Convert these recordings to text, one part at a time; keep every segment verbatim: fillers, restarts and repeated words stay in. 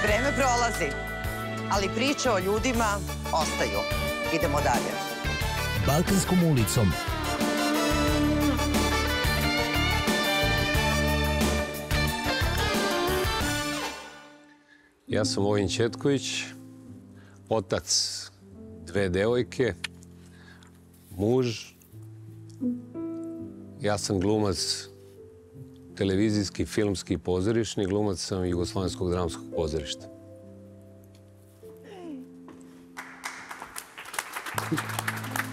Vreme prolazi, ali priče o ljudima ostaju. Idemo dalje. Balkanskom ulicom. Ja sam Vojin Ćetković, otac dve devojke, muž. Ja sam glumac televizijski, filmski, pozorišni. Glumac sam Jugoslovenskog dramskog pozorišta.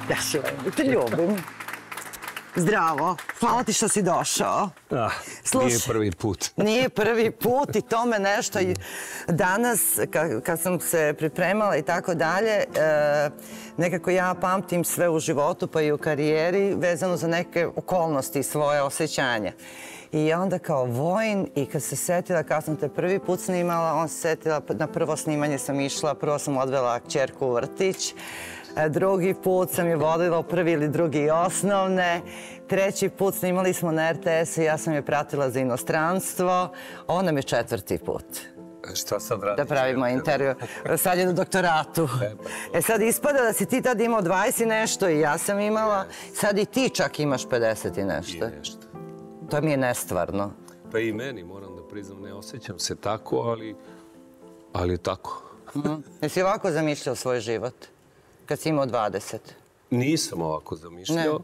Ja se te ljubim. Zdravo. Hvala ti što si došao. Ah, nije prvi put. Nije prvi put i to me nešto... Danas, kad sam se pripremala i tako dalje, nekako ja pamtim sve u životu pa i u karijeri vezano za neke okolnosti i svoje osjećanja. I onda kao Vojin, i kad se setila, kad sam te prvi put snimala, on se setila, na prvo snimanje sam išla, prvo sam odvela kćerku u vrtić, drugi put sam je vodila u prvi ili drugi osnovne, treći put snimali smo na er te esu i ja sam je pratila za inostranstvo, ovo nam je četvrti put. Šta sad radiš? Da pravimo intervju. Sad je na doktoratu. E sad ispada da si ti tad imao dvadeset i nešto i ja sam imala, sad i ti čak imaš pedeset i nešto. I nešto. To mi je nestvarno. Pa i meni, moram da priznam, ne osjećam se tako, ali... ali tako. Jesi ovako zamišljao svoj život? Kad si imao dvadeset? Nisam ovako zamišljao.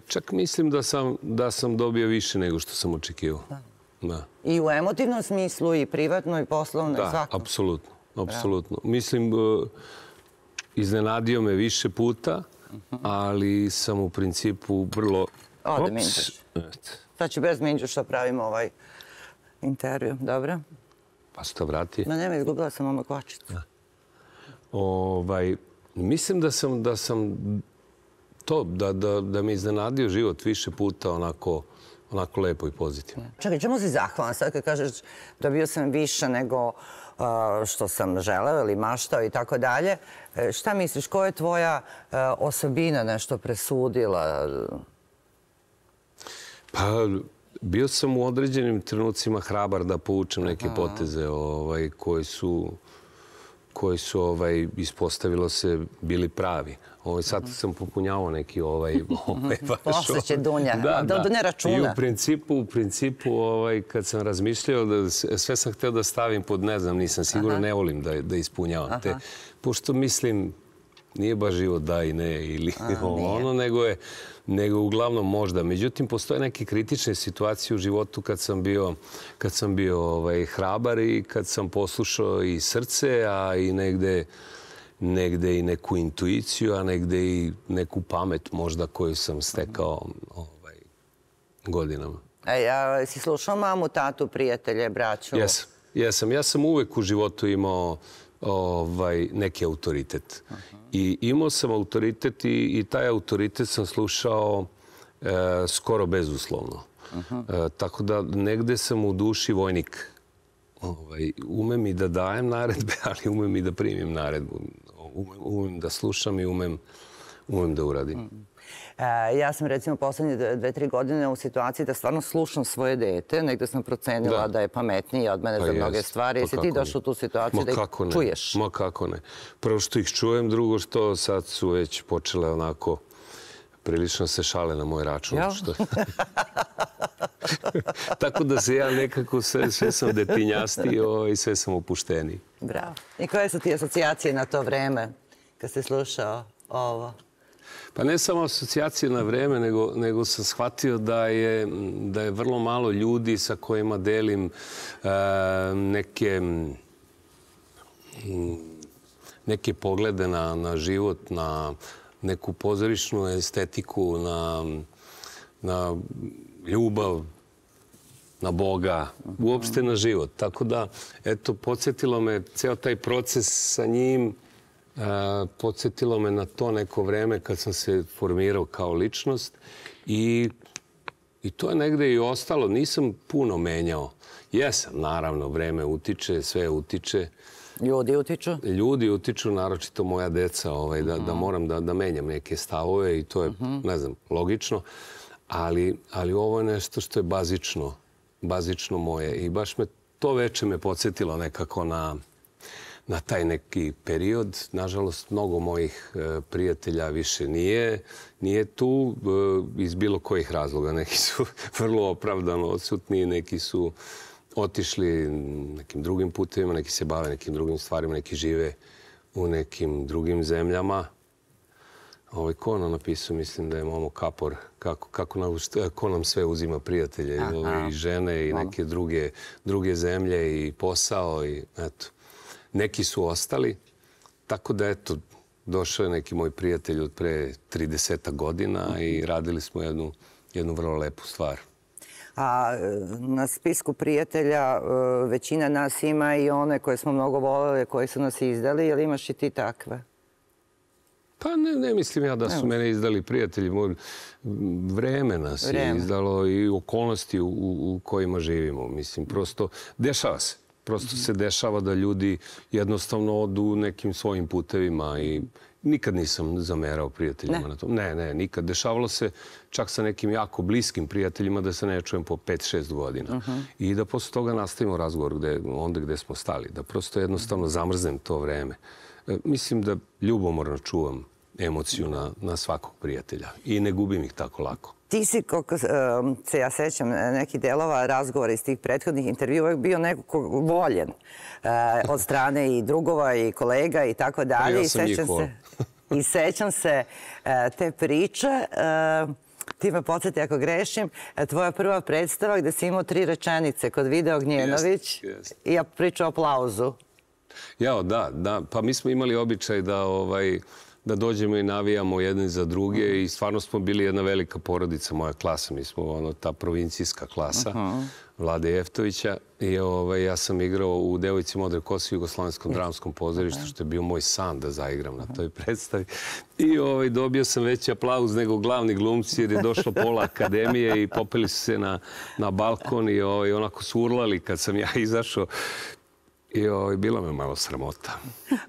Čak mislim da sam dobio više nego što sam očekivao. I u emotivnom smislu, i privatno, i poslovno, i svako? Da, apsolutno. Apsolutno. Mislim, iznenadio me više puta, ali sam u principu vrlo... Ode, Minđuš. Sad ću bez Minđuša pravimo ovaj intervju, dobro? Pa se to vrati. Ma nema, izgubila sam oma kvačicu. Mislim da sam to, da me iznenadio život više puta onako lepo i pozitivno. Čekaj, čemu si zahvalan sad kad kažeš dobio sam više nego što sam želeo ili maštao i tako dalje? Šta misliš, koja je tvoja osobina nešto presudila? Pa, bio sam u određenim trenucima hrabar da povučem neke poteze koji su koji su, ispostavilo se, bili pravi. Sad sam popunjavao neki ovaj... Posle će Dunja, Dunja računa. I u principu, kad sam razmišljao, sve sam hteo da stavim pod, ne znam, nisam siguran, ne volim da ispunjavam te. Pošto mislim, nije baš život da i ne ili ono, nego je nego uglavnom možda. Međutim, postoje neke kritične situacije u životu kad sam bio kad sam bio hrabar i kad sam poslušao i srce, a i negde negde i neku intuiciju, a negde i neku pamet možda koju sam stekao godinama. A si slušao mamu, tatu, prijatelje, braću? Jesam. Jesam. Ja sam uvek u životu imao neki autoritet. I imao sam autoritet i taj autoritet sam slušao skoro bezuslovno. Tako da negde sam u duši vojnik. Umem i da dajem naredbe, ali umem i da primim naredbu. Umem da slušam i umem da uradim. Ja sam recimo poslednje dve, tri godine u situaciji da stvarno slušam svoje dete. Negde sam procenila da je pametniji od mene za mnoge stvari. Jesi ti došao u tu situaciju da ih čuješ? Ma kako ne. Prvo što ih čujem, drugo što sad su već počele onako prilično se šale na moj račun. Tako da se ja nekako sve sam detinjastio i sve sam opušteniji. Bravo. I koje su ti asocijacije na to vreme kad si slušao ovo? Pa ne samo asocijacije na vreme, nego sam shvatio da je vrlo malo ljudi sa kojima delim neke neke poglede na život, na neku pozorišnu estetiku, na ljubav, na Boga, uopšte na život. Tako da, eto, podsjetilo me ceo taj proces sa njim, podsjetilo me na to neko vreme kad sam se formirao kao ličnost i to je negde i ostalo. Nisam puno menjao. Jesam, naravno, vreme utiče, sve utiče. Ljudi utiču? Ljudi utiču, naročito moja deca, da moram da menjam neke stavove i to je, ne znam, logično. Ali ovo je nešto što je bazično, bazično moje i baš me to veče me podsjetilo nekako na, na taj neki period. Nažalost, mnogo mojih e, prijatelja više nije, nije tu e, iz bilo kojih razloga. Neki su vrlo opravdano odsutni, neki su otišli nekim drugim putevima, neki se bave nekim drugim stvarima, neki žive u nekim drugim zemljama. Ovaj, ko nam napisao, mislim da je Momo Kapor, kako, kako nam, ko nam sve uzima prijatelje, ovaj, i žene i neke druge, druge zemlje i posao. I, eto. Neki su ostali, tako da eto, došao je neki moj prijatelj od pre trideset godina i radili smo jednu, jednu vrlo lepu stvar. A na spisku prijatelja većina nas ima i one koje smo mnogo voljeli, koji su nas izdali, ili imaš i ti takve? Pa ne, ne mislim ja da su mene izdali prijatelji. Vreme nas je izdalo i okolnosti u, u kojima živimo. Mislim, prosto dešava se. Prosto se dešava da ljudi jednostavno odu nekim svojim putevima i nikad nisam zamerao prijateljima na tom. Ne, ne, nikad. Dešavalo se čak sa nekim jako bliskim prijateljima da se ne čujem po pet šest godina. I da posle toga nastavimo razgovor gde, onda gde smo stali. Da prosto jednostavno zamrznem to vreme. Mislim da ljubomorno čuvam emociju na, na svakog prijatelja i ne gubim ih tako lako. Ti si, koliko se ja sećam, nekih delova razgovora iz tih prethodnih intervjua uvijek bio nekako voljen od strane i drugova i kolega i tako dalje. Ja sam njih voljen. I sećam se te priče. Ti me podsjeti ako grešim, tvoja prva predstava gde si imao tri rečenice kod Vida Ognjenović i ja pričao o aplauzu. Jao, da, da. Pa mi smo imali običaj da ovaj... da dođemo i navijamo jedni za druge i stvarno smo bili jedna velika porodica, moja klasa. Mi smo ono, ta provincijska klasa Vlade Jeftovića i ovaj, ja sam igrao u Devojci modre kose u Jugoslovenskom dramskom pozorištu, što je bio moj san da zaigram na toj predstavi. I ovaj, dobio sam veći aplauz nego glavni glumci jer je došlo pola akademije i popeli su se na, na balkon i ovaj, onako su urlali kad sam ja izašao. I ovaj, bila me malo sramota.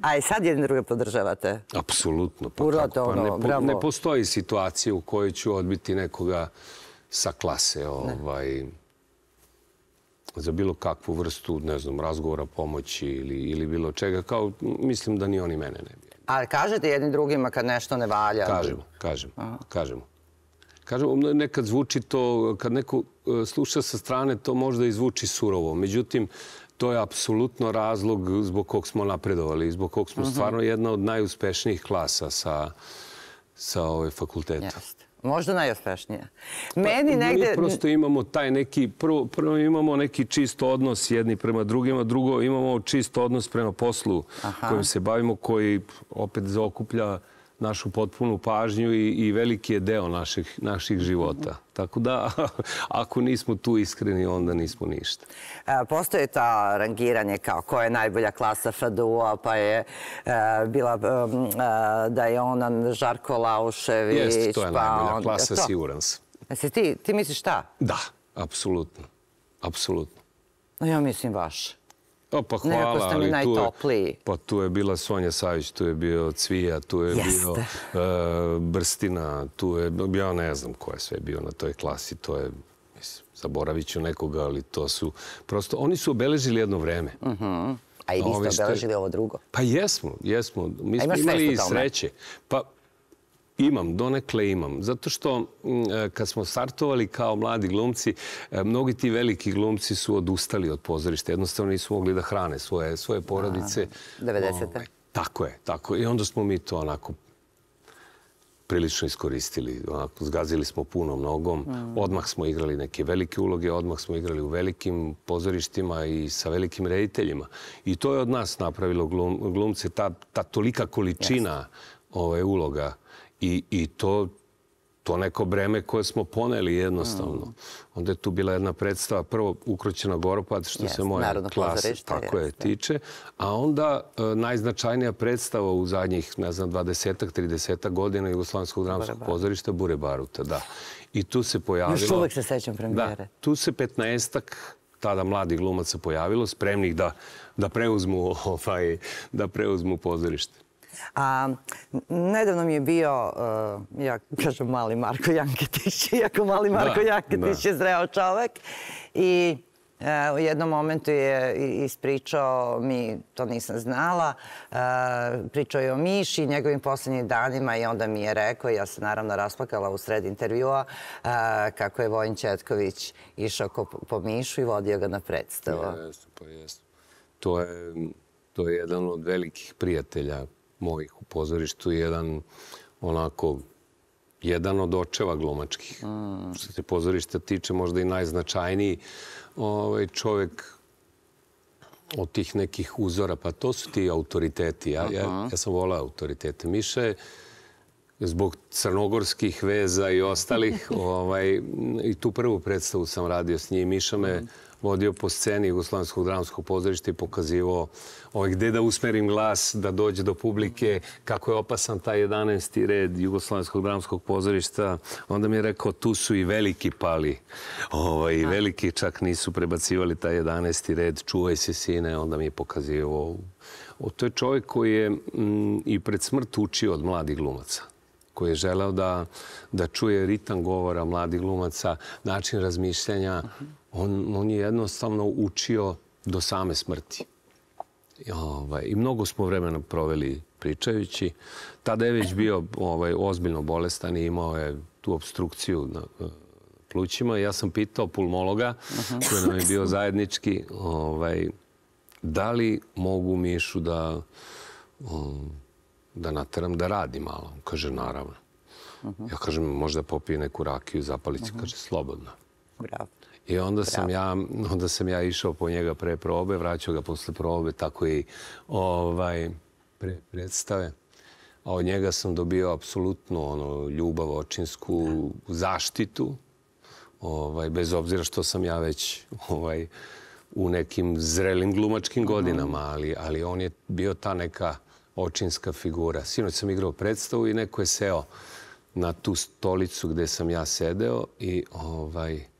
A i sad jedni druge podržavate? Apsolutno. Pa Uroto, pa ne, ono, bravo. Ne postoji situacija u kojoj ću odbiti nekoga sa klase ovaj, za bilo kakvu vrstu, ne znam, razgovora, pomoći ili, ili bilo čega. Kao, mislim da ni oni mene ne bi. Ali kažete jedni drugima kad nešto ne valja? Kažemo, kažemo, kažemo. Kažemo, nekad zvuči to, kad neko sluša sa strane, to možda i zvuči surovo. Međutim, to je apsolutno razlog zbog kog smo napredovali, zbog kog smo stvarno jedna od najuspešnijih klasa sa, sa ovaj fakulteta. Jeste. Možda najuspešnija. Meni negde... Mi prosto imamo taj neki, prvo, prvo imamo neki čist odnos jedni prema drugima, drugo imamo čist odnos prema poslu kojim se bavimo, koji opet zaokuplja našu potpunu pažnju i, i veliki je deo naših, naših života. Tako da, ako nismo tu iskreni, onda nismo ništa. Postoje ta rangiranje kao ko je najbolja klasa F D U-a, pa je bila da je ona Žarko Laušević. Jeste, to je najbolja klasa, siguran sam. Ti, ti misliš šta? Da, apsolutno. Apsolutno. Ja mislim vaš. O, pa hvala, nekako ste mi najtopliji. Pa tu je bila Sonja Savić, tu je bio Cvija, tu je bio Brstina, tu je, ja ne znam ko je sve bio na toj klasi, to je, mislim, zaboravit ću nekoga, ali to su, prosto, oni su obeležili jedno vreme. A i vi ste obeležili ovo drugo? Pa jesmo, jesmo. Mi smo imali i sreće. Pa imam, donekle imam. Zato što kad smo startovali kao mladi glumci, mnogi ti veliki glumci su odustali od pozorišta. Jednostavno nisu mogli da hrane svoje, svoje porodice. devedesete. Tako je, tako. I onda smo mi to onako prilično iskoristili. Onako, zgazili smo puno nogom. Odmah smo igrali neke velike uloge, odmah smo igrali u velikim pozorištima i sa velikim rediteljima. I to je od nas napravilo glum, glumce, ta, ta tolika količina ove, uloga. I, i to, to neko breme koje smo poneli jednostavno. Onda je tu bila jedna predstava, prvo Ukroćena Goropad, što se moja klasa tako je tiče, a onda najznačajnija predstava u zadnjih, ne znam, dvadesetak, tridesetak godina Jugoslovenskog dramskog pozorišta Bure Baruta, da. I tu se pojavilo... Još uvek se sećam premijere. Da, tu se petnaestak tada mladih glumaca pojavilo, spremnih da, da, preuzmu, ovaj, da preuzmu pozorište. A, nedavno mi je bio, uh, ja kažem, mali Marko Janketić, iako mali Marko da, Janketić da. je zreo čovek. I U jednom momentu je ispričao mi, to nisam znala, pričao je o Miši, njegovim posljednjim danima i onda mi je rekao, ja sam naravno rasplakala u sred intervjua, kako je Vojin Ćetković išao po Mišu i vodio ga na predstavu. Jesu, pa jesu. To je, to je jedan od velikih prijatelja mojih u pozorištu, jedan onako, jedan od očeva glumačkih. Mm. Što se pozorišta tiče, možda i najznačajniji ovaj, čovjek od tih nekih uzora. Pa to su ti autoriteti. Ja, ja, ja sam volao autoritete. Miša je zbog crnogorskih veza i ostalih, ovaj, i tu prvu predstavu sam radio s njim. Miša me vodio po sceni Jugoslovenskog dramskog pozorišta i pokazivao ovaj, gde da usmerim glas, da dođe do publike, kako je opasan taj jedanaesti red Jugoslovenskog dramskog pozorišta. Onda mi je rekao, tu su i veliki pali. Ovaj, veliki čak nisu prebacivali taj jedanaesti red, čuvaj se sine, onda mi je pokazivao. O, to je čovjek koji je m, i pred smrt učio od mladih glumaca, koji je želeo da, da čuje ritam govora mladih glumaca, način razmišljanja. On, on je jednostavno učio do same smrti. I, ovaj, i mnogo smo vremena proveli pričajući. Tada je već bio ovaj, ozbiljno bolestan i imao je tu obstrukciju na plućima. Ja sam pitao pulmologa, koji nam je bio zajednički, ovaj, da li mogu Mišu da, um, da nateram da radi malo. On kaže, naravno. Ja kažem, možda popije neku rakiju, zapalicu. Kaže, slobodno. Bravo. I onda sam, ja, onda sam ja išao po njega pre probe, vraćao ga posle probe, tako i ovaj, pre predstave. A od njega sam dobio apsolutno ono, ljubav, očinsku zaštitu, ovaj, bez obzira što sam ja već ovaj, u nekim zrelim glumačkim godinama, ali, ali on je bio ta neka očinska figura. Sinoć sam igrao predstavu i neko je seo na tu stolicu gde sam ja sedeo i ovaj,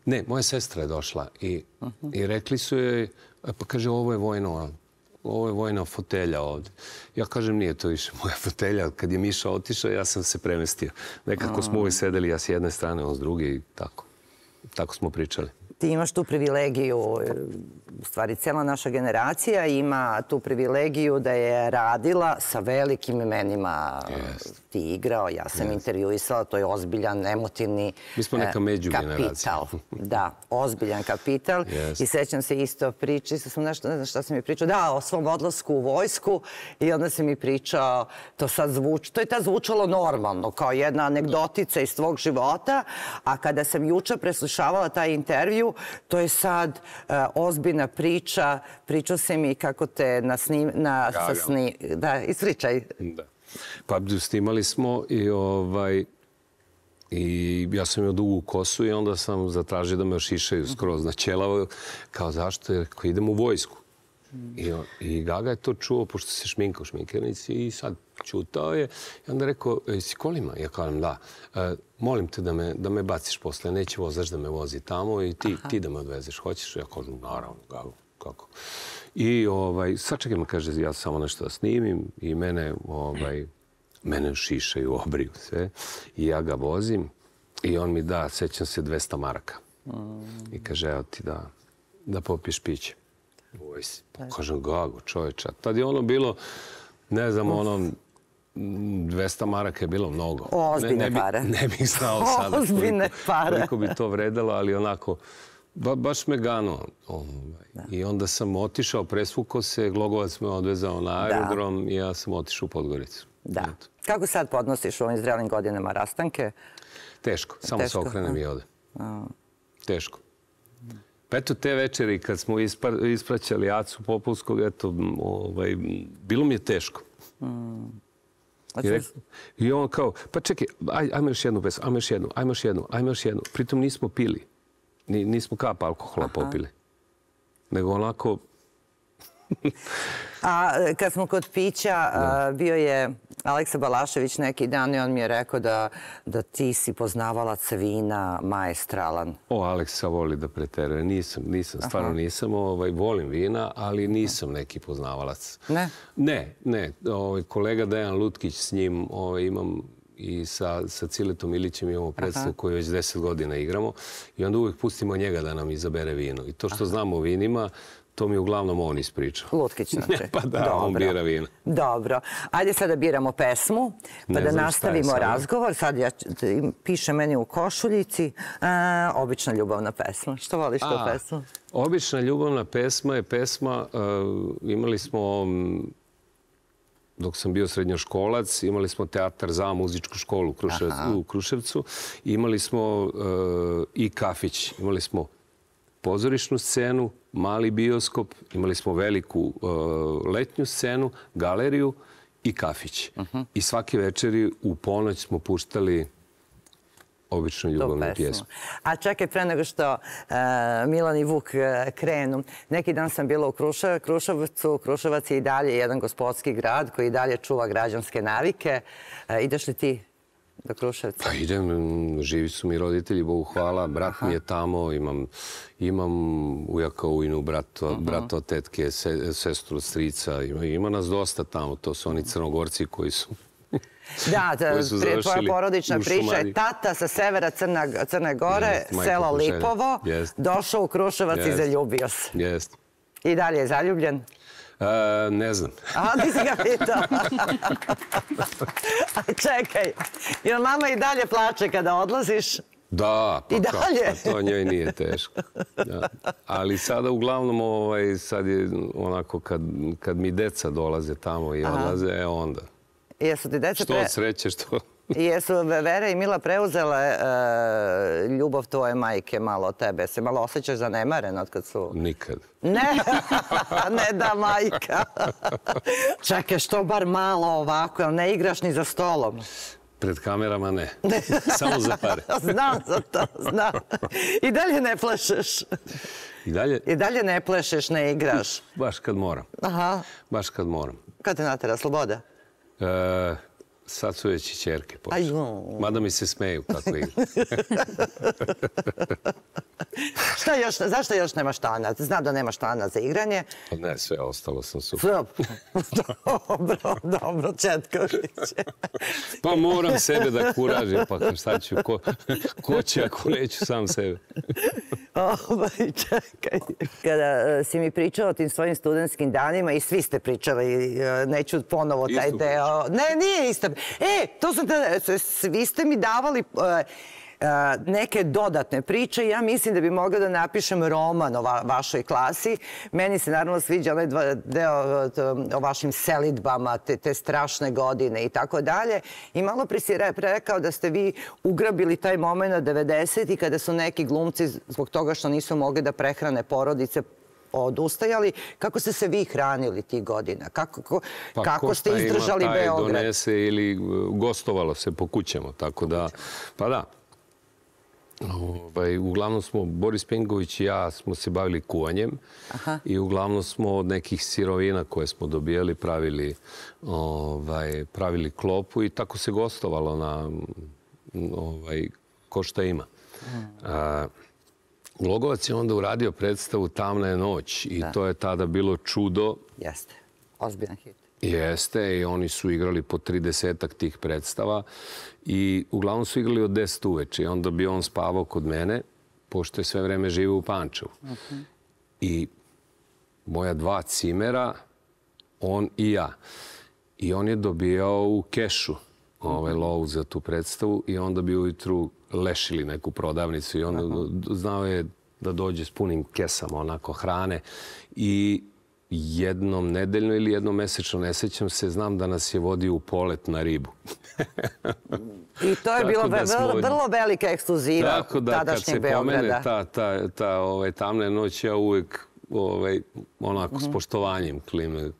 ne, moja sestra je došla i, i rekli su joj, pa kaže, ovo je vojno, ovo je vojna fotelja ovde. Ja kažem, nije to više moja fotelja. Kad je Miša otišao, ja sam se premestio. Nekako smo uvijek sedeli, ja s jedne strane, on s druge i tako. Tako smo pričali. Ti imaš tu privilegiju, u stvari cijela naša generacija ima tu privilegiju da je radila sa velikim imenima. Ti igrao, ja sam intervjuisala, to je ozbiljan, emotivni Mi smo neka međugeneracija. Kapital. Da, ozbiljan kapital. I sećam se isto priči, sam nešto, ne znam šta sam mi pričao, da, o svom odlasku u vojsku i onda se mi pričao, to sad zvuči, to je tad zvučalo normalno, kao jedna anegdotica iz tvog života, a kada sam juče preslušavala taj intervju, to je sad uh, ozbiljna priča. Pričao se mi kako te na snim... Na, ja, sa sni, ja. Da, ispričaj. Da. Pa snimali smo i, ovaj, i ja sam imao dugu kosu i onda sam zatražio da me ošišaju skroz na ćelavo. Kao zašto? Jer ako idem u vojsku. I, I Gaga je to čuo, pošto se šminka u šminkernici i sad čutao je. I onda rekao, si kolima? Ja kažem, da. E, molim te da me, da me baciš posle. Neće vozač da me vozi tamo i ti, ti da me odvezeš. Hoćeš? Ja kažem, naravno, Gaga, kako? I ovaj, sačekaj me, kaže, ja samo nešto da snimim i mene, ovaj, mene šišaju, obriju sve. I ja ga vozim i on mi da, sećam se, dvesta maraka. Mm. I kaže, evo ti da, da popiješ piće. Vojsi. Pa kažem, Gago, čovječa. Tad je ono bilo, ne znam, ono, dvesta maraka je bilo mnogo. Ozbiljne ne, ne pare. Bi, ne bih znao sada Ozbiljne pare. koliko bi to vredalo, ali onako, ba, baš me ganuo. Ovaj. I onda sam otišao, presvukao se, Glogovac me odvezao na aerodrom i ja sam otišao u Podgoricu. Da. Eto. Kako sad podnosiš u ovim zrelim godinama rastanke? Teško. Samo Teško. se okrenem i ode. A. Teško. Pa eto, te večeri kad smo ispra, ispraćali Acu Popovskog, eto, ovaj, bilo mi je teško. Mm. I, rek, I on kao, pa čekaj, aj, ajmo još jednu pesmu, ajmo još jednu, ajmo još jednu, ajmo još jednu. Pritom nismo pili. Ni, nismo kap alkohola Aha. popili. Nego onako... A kad smo kod pića, a, bio je Aleksa Balašević neki dan i on mi je rekao da, da ti si poznavalac vina maestralan. O, Aleksa voli da preteruje. Nisam, nisam, stvarno Aha. nisam. Ovaj, volim vina, ali nisam neki poznavalac. Ne? Ne, ne. Ovaj, kolega Dejan Lutkić, s njim ovaj, imam i sa, sa Ciletom Ilićem imamo predstavu koju već deset godina igramo i onda uvijek pustimo njega da nam izabere vino. I to što znamo o vinima, to mi uglavnom on ispriča. Lutkić, znači. Pa da, on bira vino. Dobro. Ajde sad da biramo pesmu, pa da nastavimo razgovor. Sad ja piše meni u košuljici obična ljubavna pesma. Što voliš tu pesmu? Obična ljubavna pesma je pesma, imali smo, dok sam bio srednjoškolac, imali smo teatar za muzičku školu u Kruševcu. Imali smo i kafić. Imali smo pozorišnu scenu, mali bioskop, imali smo veliku letnju scenu, galeriju i kafić. I svake večeri u ponoć smo puštali običnu ljubavnu pjesmu. A čekaj, pre nego što Milan i Vuk krenu, neki dan sam bila u Kruševcu. Kruševac je i dalje jedan gospodski grad koji i dalje čuva građanske navike. Ideš li ti do Kruševca? Pa idem, živi su mi roditelji, Bogu hvala, brat mi je tamo, imam ujaka, ujnu, brata od tetke, sestru od strica, ima nas dosta tamo, to su oni Crnogorci koji su... Da, tvoja porodična priča je tata sa severa Crne Gore, selo Lipovo, došao u Kruševac i zaljubio se. Jest. I dalje je zaljubljen? Ne znam. A, ti si ga pitao. Čekaj, jer mama i dalje plače kada odlaziš? Da, pa to njoj nije teško. Ali sada uglavnom, sad je onako, kad mi deca dolaze tamo i odlaze, onda... Jesu ti deca... Što od sreće, što... Jesu Vera i Mila preuzele ljubav tvoje majke malo od tebe? Se malo osjećaš zanemaren od kad su... Nikad. Ne, ne da majka. Čekaj, što bar malo ovako, ali ne igraš ni za stolom? Pred kamerama ne. Samo za pare. Znam za to, znam. I dalje ne plešeš? I dalje? I dalje ne plešeš, ne igraš? Baš kad moram. Aha. Baš kad moram. Kad te natera sloboda? Sad su već i čerke počeli. Mada mi se smeju kako igra. Zašto još nemaš tanac? Znam da nemaš tanac za igranje. Ne, sve ostalo sam super. Dobro, dobro, Četković. Pa moram sebe da kuražim, pa šta ću, ko će ako neću sam sebe. Čekaj. Kada si mi pričao o tim svojim studentskim danima i svi ste pričali, neću ponovo taj deo. Ne, nije isto. E, to sam te, svi ste mi davali neke dodatne priče. Ja mislim da bi mogla da napišem roman o vašoj klasi. Meni se naravno sviđa onaj deo o vašim selidbama, te strašne godine i tako dalje. I malo pre si rekao da ste vi ugrabili taj moment devedesetih kada su neki glumci zbog toga što nisu mogli da prehrane porodice odustajali. Kako ste se vi hranili tih godina? Kako ste izdržali Beograd? Pa ko šta ima taj donese ili gostovalo se po kućama, tako da, pa da. Uglavnom smo, Boris Pengović i ja smo se bavili kuvanjem i uglavnom smo od nekih sirovina koje smo dobijali pravili klopu i tako se gostovalo na ko šta ima. Glogovac je onda uradio predstavu Tamna je noć i to je tada bilo čudo. Jeste, ozbiljan hit. Jeste, i oni su igrali po tridesetak tih predstava i uglavnom su igrali od deset uveče. I onda bi on spavao kod mene, pošto je sve vreme živio u Pančevu. I moja dva cimera, on i ja. I on je dobijao u kešu lovu za tu predstavu i onda bi ujutru lešili neku prodavnicu i onda znao je da dođe s punim kesama onako hrane i jednom nedeljno ili jednom mesečno, ne sećam se, znam da nas je vodio u polet na ribu. I to je bilo vrlo velika ekskluziva tadašnjeg Beograda. Tako da kad se pomene ta Tamna je noć, ja uvek onako s poštovanjem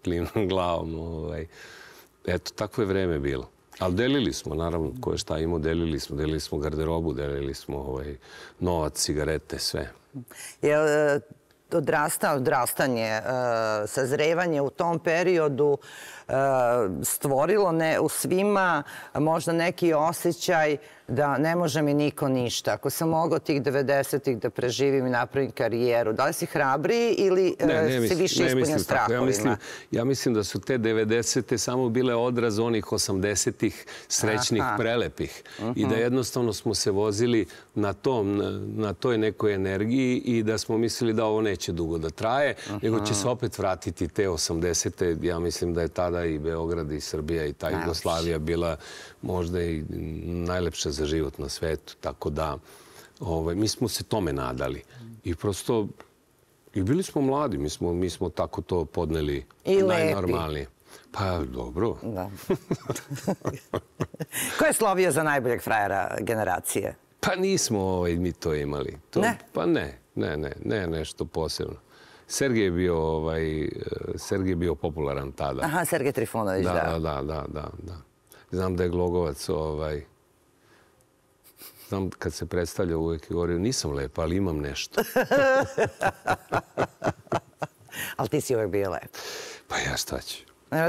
klimnem glavom. Eto, tako je vreme bilo. Ali delili smo, naravno, ko je šta imao, delili smo. Delili smo garderobu, delili smo novac, cigarete, sve. Je odrastanje, sazrevanje u tom periodu stvorilo u svima možda neki osjećaj da ne može mi niko ništa. Ako sam mogao tih devedesetih da preživim i napravim karijeru, da li si hrabriji ili si više ispunjen strahovima? Ja mislim da su te devedesete samo bile odraz onih osamdesetih srećnih, prelepih. I da jednostavno smo se vozili na tom, na toj nekoj energiji i da smo mislili da ovo neće dugo da traje, nego će se opet vratiti te osamdesete. Ja mislim da je tada i Beograd i Srbija i ta Jugoslavija bila možda i najlepša za život na svetu. Tako da mi smo se tome nadali. I prosto, i bili smo mladi, mi smo tako to podneli najnormalnije. Pa, dobro. Ko je slovio za najboljeg frajera generacije? Pa nismo mi to imali. Ne? Pa ne, ne, ne, ne nešto posebno. Sergej je bio, Sergej je bio popularan tada. Aha, Sergej Trifunović, da. Da, da, da, da. Znam da je Glogovac, znam kad se predstavlja uvijek i govorio nisam lepa, ali imam nešto. Ali ti si uvijek bio lep. Pa ja šta ću.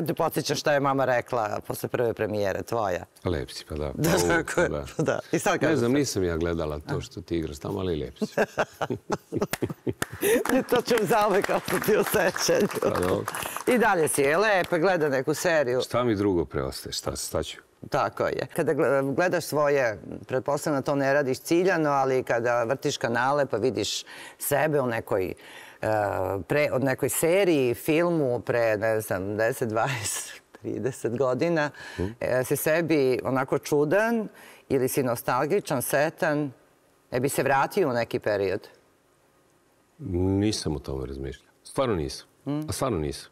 Te podsjećam šta je mama rekla posle prve premijere, tvoja. Lep si, pa da. Da, tako je. Ne znam, nisam ja gledala to što ti igraš tamo, ali lep si. To ću zauvek ostati u sećanju. I dalje si je lepe, gleda neku seriju. Šta mi drugo preostaje, šta ću? Tako je. Kada gledaš svoje, pretpostavljam da to ne radiš ciljano, ali kada vrtiš kanale pa vidiš sebe u nekoj od nekoj seriji, filmu pre, ne znam, deset, dvadeset, trideset godina, si sebi onako čudan ili si nostalgičan, setan, ne bi se vratio u neki period? Nisam o tome razmišljao. Stvarno nisam. A stvarno nisam.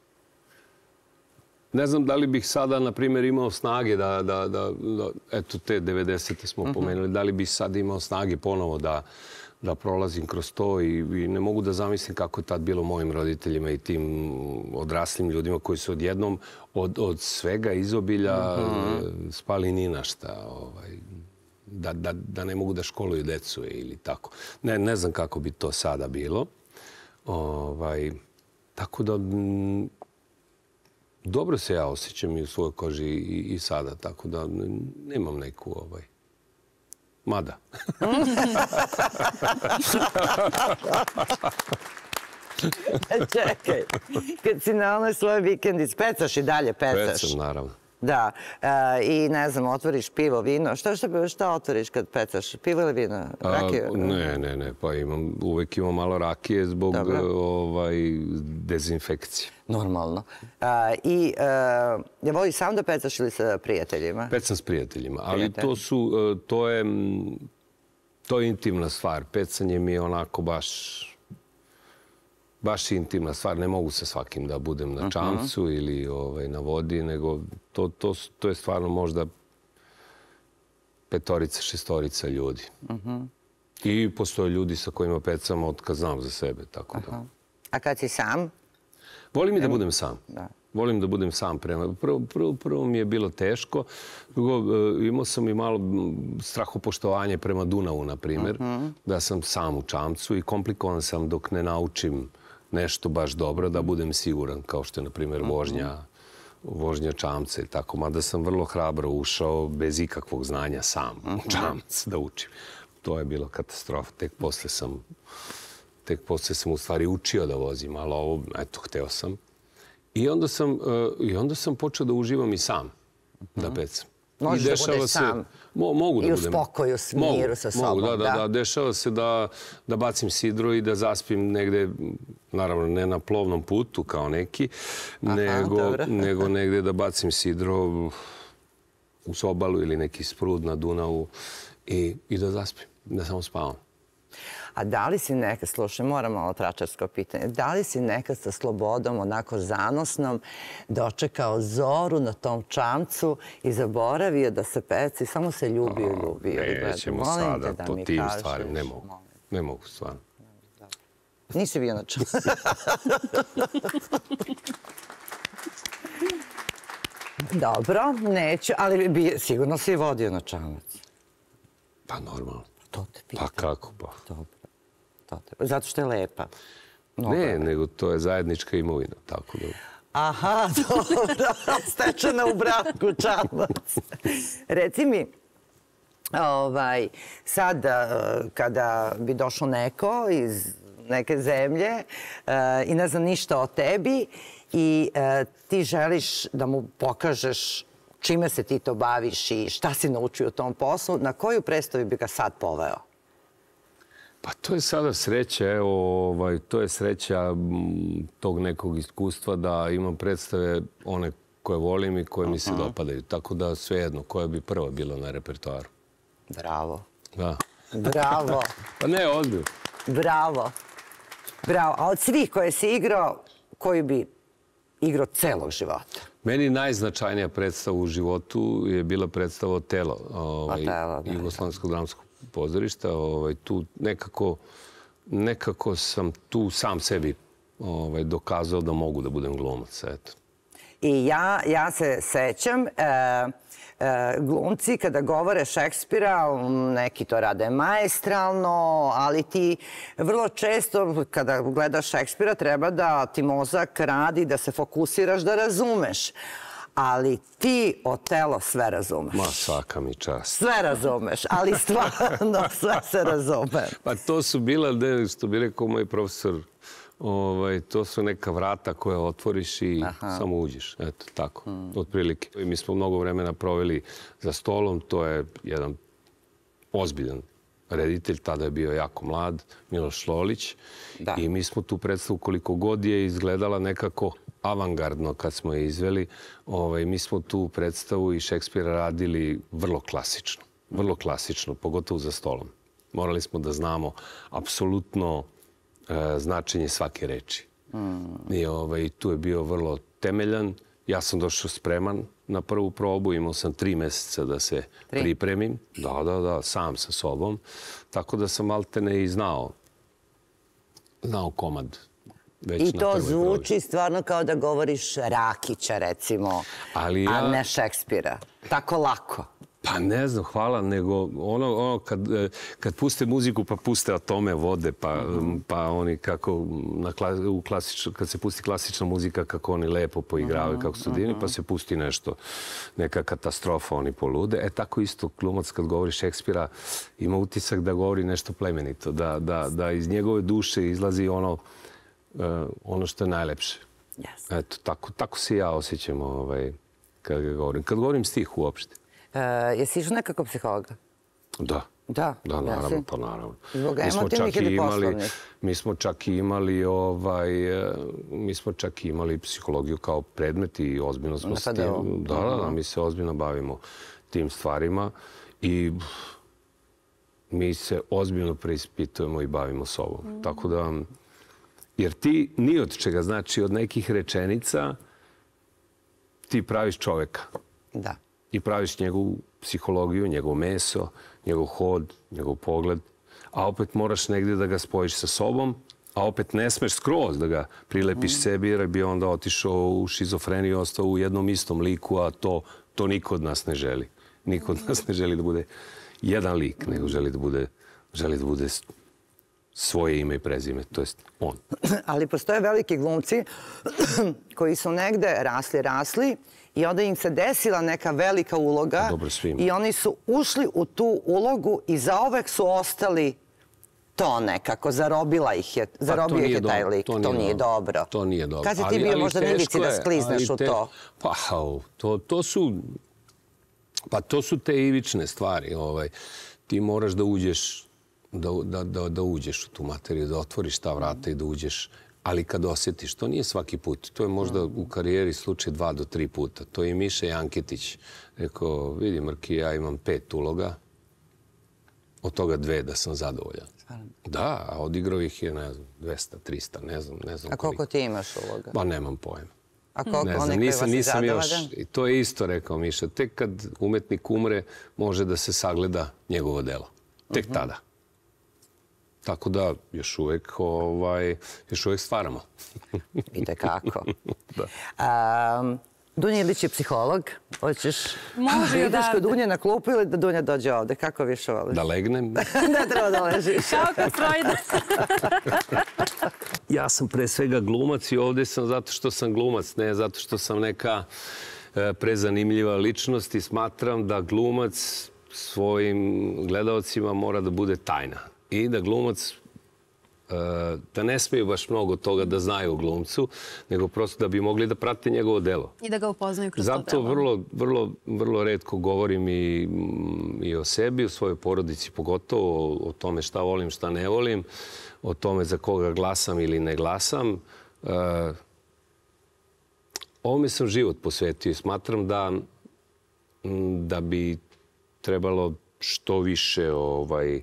Ne znam da li bih sada, na primjer, imao snage da, eto, te devedesete smo pomenuli, da li bih sad imao snage ponovo da da prolazim kroz to i ne mogu da zamislim kako je tad bilo mojim roditeljima i tim odraslim ljudima koji su odjednom od svega izobilja spali ni na šta. Da ne mogu da školuju decu ili tako. Ne znam kako bi to sada bilo. Tako da dobro se ja osjećam i u svojoj koži i sada. Tako da nemam neku... Mada. Čekaj, kad si na onoj svojoj vikendici, pecaš i dalje pecaš? Pecam, naravno. Da, i ne znam, otvoriš pivo, vino. Šta otvoriš kad pecaš? Pivo ili vino? Rakiju? Ne, ne, ne, pa uvek imam malo rakije zbog dezinfekcije. Normalno. I je voliš sam da pecaš ili sa prijateljima? Pecam s prijateljima, ali to su, to je, to je intimna stvar. Pecanje mi je onako baš, baš intimna stvar. Ne mogu sa svakim da budem na čamcu ili na vodi, nego to je stvarno možda petorica, šestorica ljudi. I postoje ljudi sa kojima pecam od kad znam za sebe, tako da. A kad si sam? Volim i da budem sam. Volim da budem sam prema. Prvo mi je bilo teško. Drugo, imao sam i malo strahopoštovanje prema Dunavu, na primjer, da sam sam u čamcu i komplikovan sam dok ne naučim nešto baš dobro, da budem siguran, kao što je, na primjer, vožnja, vožnja čamca i tako. Mada sam vrlo hrabro ušao bez ikakvog znanja sam u čamac da učim. To je bilo katastrofa. Tek posle sam... Tek posle sam u stvari učio da vozim, ali ovo, eto, hteo sam. I onda sam počeo da uživam i sam, da pecam. Možeš da budeš sam i u spokoju, s miru sa sobom. Mogu, da, da. Dešava se da bacim sidro i da zaspim negde, naravno ne na plovnom putu kao neki, nego negde da bacim sidro u obalu ili neki sprud na Dunavu i da zaspim, da samo spavam. A da li si nekad, slušaj, moram malo tračarsko pitanje, da li si nekad sa slobodom, onako zanosnom, dočekao zoru na tom čamcu i zaboravio da se peci, samo se ljubio i ljubio? Nećemo sada po tim stvarima, ne mogu. Ne mogu, stvarno. Nisi bio na čamcu. Dobro, neću, ali sigurno si vodio na čamac. Pa normalno. To te pitam. Pa kako pa? Dobro. Zato što je lepa. Ne, nego to je zajednička imovina, tako da... Aha, dobro, stečena u braku čamac. Reci mi, Ovaj, sad, kada bi došao neko iz neke zemlje i ne zna ništa o tebi i ti želiš da mu pokažeš čime se ti to baviš i šta si naučio u tom poslu, na koju predstavu bi ga sad poveo? Pa to je sada sreća, evo, ovaj, to je sreća tog nekog iskustva da imam predstave one koje volim i koje mi se dopadaju. Tako da svejedno, koja bi prva bila na repertoaru. Bravo. Da. Bravo. Pa ne, odbio. Bravo. Bravo. A od svih koje si igrao, koju bi igrao celog života? Meni najznačajnija predstava u životu je bila predstava Otelo, ovaj, Jugoslovenskog dramskog pozorišta. Ovaj, tu nekako, nekako sam tu sam sebi ovaj, dokazao da mogu da budem glumac. Eto. I ja, ja se sećam, e, e, glumci kada govore Šekspira, neki to rade maestralno, ali ti vrlo često kada gledaš Šekspira treba da ti mozak radi, da se fokusiraš, da razumeš. Ali ti Otelo sve razumeš. Ma, svaka mi čast. Sve razumeš, ali stvarno sve se razume. Pa to su bila, što bi rekao moj profesor, Ovaj, to su neka vrata koje otvoriš i Aha. samo uđeš. Eto, tako, mm. otprilike. Mi smo mnogo vremena proveli za stolom. To je jedan ozbiljan reditelj. Tada je bio jako mlad, Miloš Lolić. Da. I mi smo tu predstavu koliko god je izgledala nekako avangardno kad smo je izveli. Ovaj, mi smo tu predstavu i Šekspira radili vrlo klasično. Vrlo klasično, pogotovo za stolom. Morali smo da znamo apsolutno značenje svake reči. Mm. I ovaj, tu je bio vrlo temeljan. Ja sam došao spreman na prvu probu. Imao sam tri meseca da se tri. pripremim. Da, da, da, sam sa sobom. Tako da sam maltene i znao, znao komad. Već I to zvuči probi. Stvarno kao da govoriš Rakića, recimo, Ali ja... a ne Šekspira. Tako lako. Pa ne znam, hvala, nego ono, ono kad, kad puste muziku pa puste atome vode, pa, mm-hmm. pa oni kako, na, u klasično, kad se pusti klasična muzika, kako oni lepo poigravaju, mm-hmm. kako su divni, mm-hmm. pa se pusti nešto, neka katastrofa, oni polude. E tako isto glumac kad govori Šekspira ima utisak da govori nešto plemenito, da, da, da iz njegove duše izlazi ono, uh, ono što je najlepše. Yes. Eto, tako, tako se ja osjećam ovaj, kad ga govorim. Kad govorim stih uopšte. Uh, jesi išao nekako psihologa? Da. Da? Da, naravno, jesi? pa naravno. Zbog emotivnih ili poslovnih? Mi smo čak i imali, ovaj, mi smo čak i imali psihologiju kao predmet i ozbiljno smo s tim. Da, da, da, mi se ozbiljno bavimo tim stvarima i mi se ozbiljno preispitujemo i bavimo sobom. Mm. Tako da, jer ti ni od čega, znači od nekih rečenica ti praviš čoveka. Da. I praviš njegovu psihologiju, njegov meso, njegov hod, njegov pogled, a opet moraš negdje da ga spojiš sa sobom, a opet ne smeš skroz da ga prilepiš mm. sebi, jer bi onda otišao u šizofreniju, ostao u jednom istom liku, a to, to niko od nas ne želi. Niko od nas ne želi da bude jedan lik, nego želi da bude, želi da bude svoje ime i prezime, to jest on. Ali postoje veliki glumci koji su negde rasli, rasli, i onda im se desila neka velika uloga i oni su ušli u tu ulogu i zaovek su ostali to nekako. Zarobila ih je, zarobio ih je taj lik. To nije dobro. To nije dobro. Kad si ti bio možda nevici da sklizneš u to? Pa, to, to su... Pa to su te ivične stvari. Ovaj. Ti moraš da uđeš, da, da, da, da uđeš u tu materiju, da otvoriš ta vrata i da uđeš. Ali kad osjetiš, to nije svaki put. To je možda u karijeri slučaj dva do tri puta. To je i Miša Janketić. Rekao, vidi Mrki, ja imam pet uloga, od toga dve da sam zadovoljan. Da, a odigrao ih je, ne znam, dvesta, trista, ne znam, ne znam. A koliko ti imaš uloga? Pa nemam pojma. A koliko ne znam, oni koji vas je zadovoljan? I to je isto, rekao Miša. Tek kad umetnik umre, može da se sagleda njegovo delo. Tek uh-huh. tada. Tako da još uvijek, ovaj, još uvijek stvaramo. Vidite kako. Da. Um, Dunja Ilić je psiholog. Hoćeš Može da ideš kod Dunje na klupu ili da Dunja dođe ovde? Kako više voliš? Da legnem? Ne treba da ležiš. Kao kod Freuda. Ja sam pre svega glumac i ovdje sam zato što sam glumac, ne zato što sam neka prezanimljiva ličnost i smatram da glumac svojim gledalcima mora da bude tajna. I da glumac, da ne smiju baš mnogo toga da znaju o glumcu, nego prosto da bi mogli da prate njegovo delo. I da ga upoznaju kroz to delo. Zato vrlo, vrlo, vrlo retko govorim i, i o sebi, o svojoj porodici pogotovo, o, o tome šta volim, šta ne volim, o tome za koga glasam ili ne glasam. Uh, ovome sam život posvetio i smatram da, da bi trebalo što više ovaj,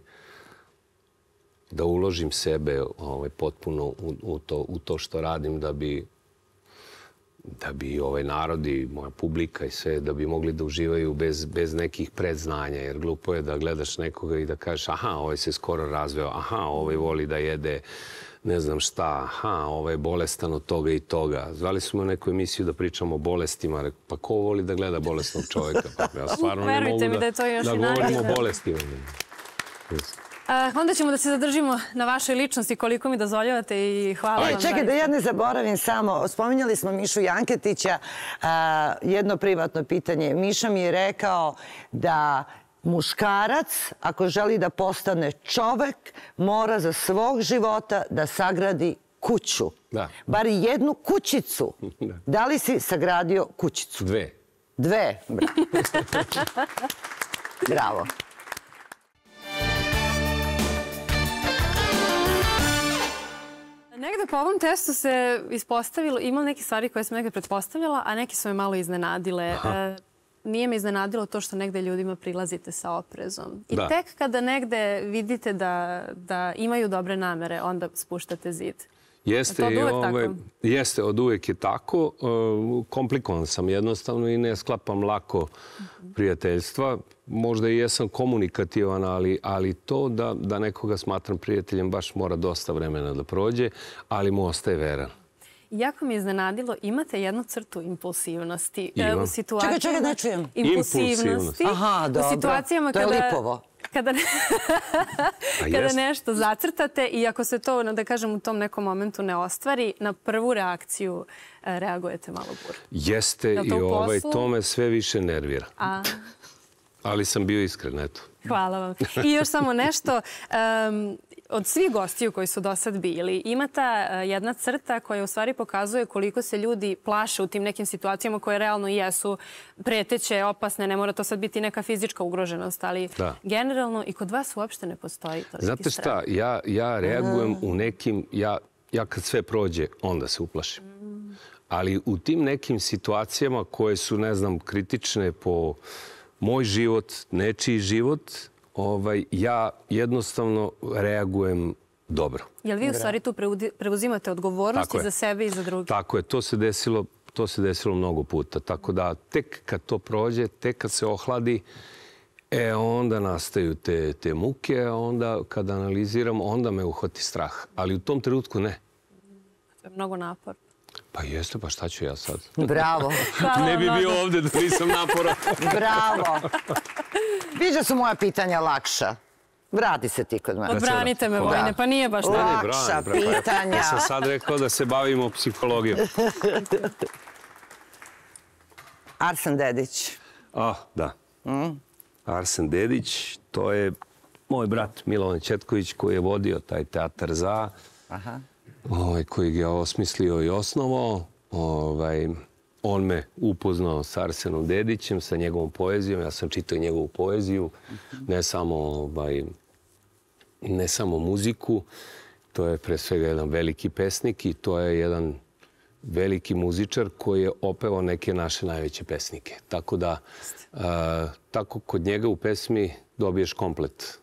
da uložim sebe ovaj, potpuno u, u, to, u to što radim, da bi, da bi ovaj narod i moja publika i sve, da bi mogli da uživaju bez, bez nekih predznanja. Jer glupo je da gledaš nekoga i da kažeš aha, ovaj se skoro razveo, aha, ovaj voli da jede ne znam šta, aha, ovaj je bolestan od toga i toga. Zvali smo u neku emisiju da pričamo o bolestima. Pa ko voli da gleda bolesnog čovjeka? Pa ja stvarno ne mogu da, mi da, je to još da govorim o bolestima. Uh, onda ćemo da se zadržimo na vašoj ličnosti koliko mi dozvoljavate i hvala Aj, vam. Čekaj, da ja ne zaboravim samo. Spominjali smo Mišu Janketića. Uh, jedno privatno pitanje. Miša mi je rekao da muškarac, ako želi da postane čovek, mora za svog života da sagradi kuću. Da. Bar jednu kućicu. Da. Da li si sagradio kućicu? Dve. Dve? Bravo. Bravo. Negde po ovom testu se ispostavilo, imam neke stvari koje sam negde pretpostavljala, a neke su me malo iznenadile. E, nije me iznenadilo to što negde ljudima prilazite sa oprezom. I da. Tek kada negde vidite da, da imaju dobre namere, onda spuštate zid. Jeste, je to od uvek ove, tako? Jeste, od uvek je tako. E, komplikovan sam jednostavno i ne sklapam lako prijateljstva. Možda i jesam komunikativan, ali, ali to da, da nekoga smatram prijateljem baš mora dosta vremena da prođe, ali mu ostaje veran. Jako mi je iznenadilo, imate jednu crtu impulsivnosti. Imam. U situacijama... Čekaj, čekaj, ne čujem. Impulsivnosti. Aha, dobro. U situacijama to je kada... lipovo. Kada, ne... kada nešto zacrtate i ako se to, da kažem, u tom nekom momentu ne ostvari, na prvu reakciju reagujete malo burno. Jeste i ovaj, to me sve više nervira. A... Ali sam bio iskren, eto. Hvala vam. I još samo nešto. Um, od svih gostiju koji su do sad bili, ima ta jedna crta koja u stvari pokazuje koliko se ljudi plaše u tim nekim situacijama koje realno jesu preteće, opasne. Ne mora to sad biti neka fizička ugroženost, ali da. Generalno i kod vas uopšte ne postoji toliki strah. Znate šta, ja, ja reagujem u nekim... Ja, ja kad sve prođe, onda se uplašim. Ali u tim nekim situacijama koje su, ne znam, kritične po moj život, nečiji život, ovaj, ja jednostavno reagujem dobro. Jel vi u stvari tu preuzimate odgovornosti za sebe i za druge? Tako je, to se desilo, to se desilo mnogo puta. Tako da tek kad to prođe, tek kad se ohladi, e onda nastaju te, te muke, a onda kad analiziram, onda me uhvati strah. Ali u tom trenutku ne. To je mnogo napor. Pa jeste, pa šta ću ja sad? Bravo. Ne bi bio ovde da nisam naporan. Bravo. Viđa su moja pitanja lakša. Vrati se ti kod mene. Odbranite me, Vojne, pa nije baš tako. Lakša pitanja. Ja sam sad rekao da se bavimo psihologijom. Arsen Dedić. Ah, da. Arsen Dedić, to je moj brat Milovan Ćetković koji je vodio taj teatar za... Aha. Ovaj, koji ga je osmislio i osnovao. Ovaj, on me upoznao s Arsenom Dedićem, sa njegovom poezijom. Ja sam čitao njegovu poeziju, ne samo, ovaj, ne samo muziku. To je pre svega jedan veliki pesnik i to je jedan veliki muzičar koji je opevao neke naše najveće pesnike. Tako da, a, tako kod njega u pesmi dobiješ komplet.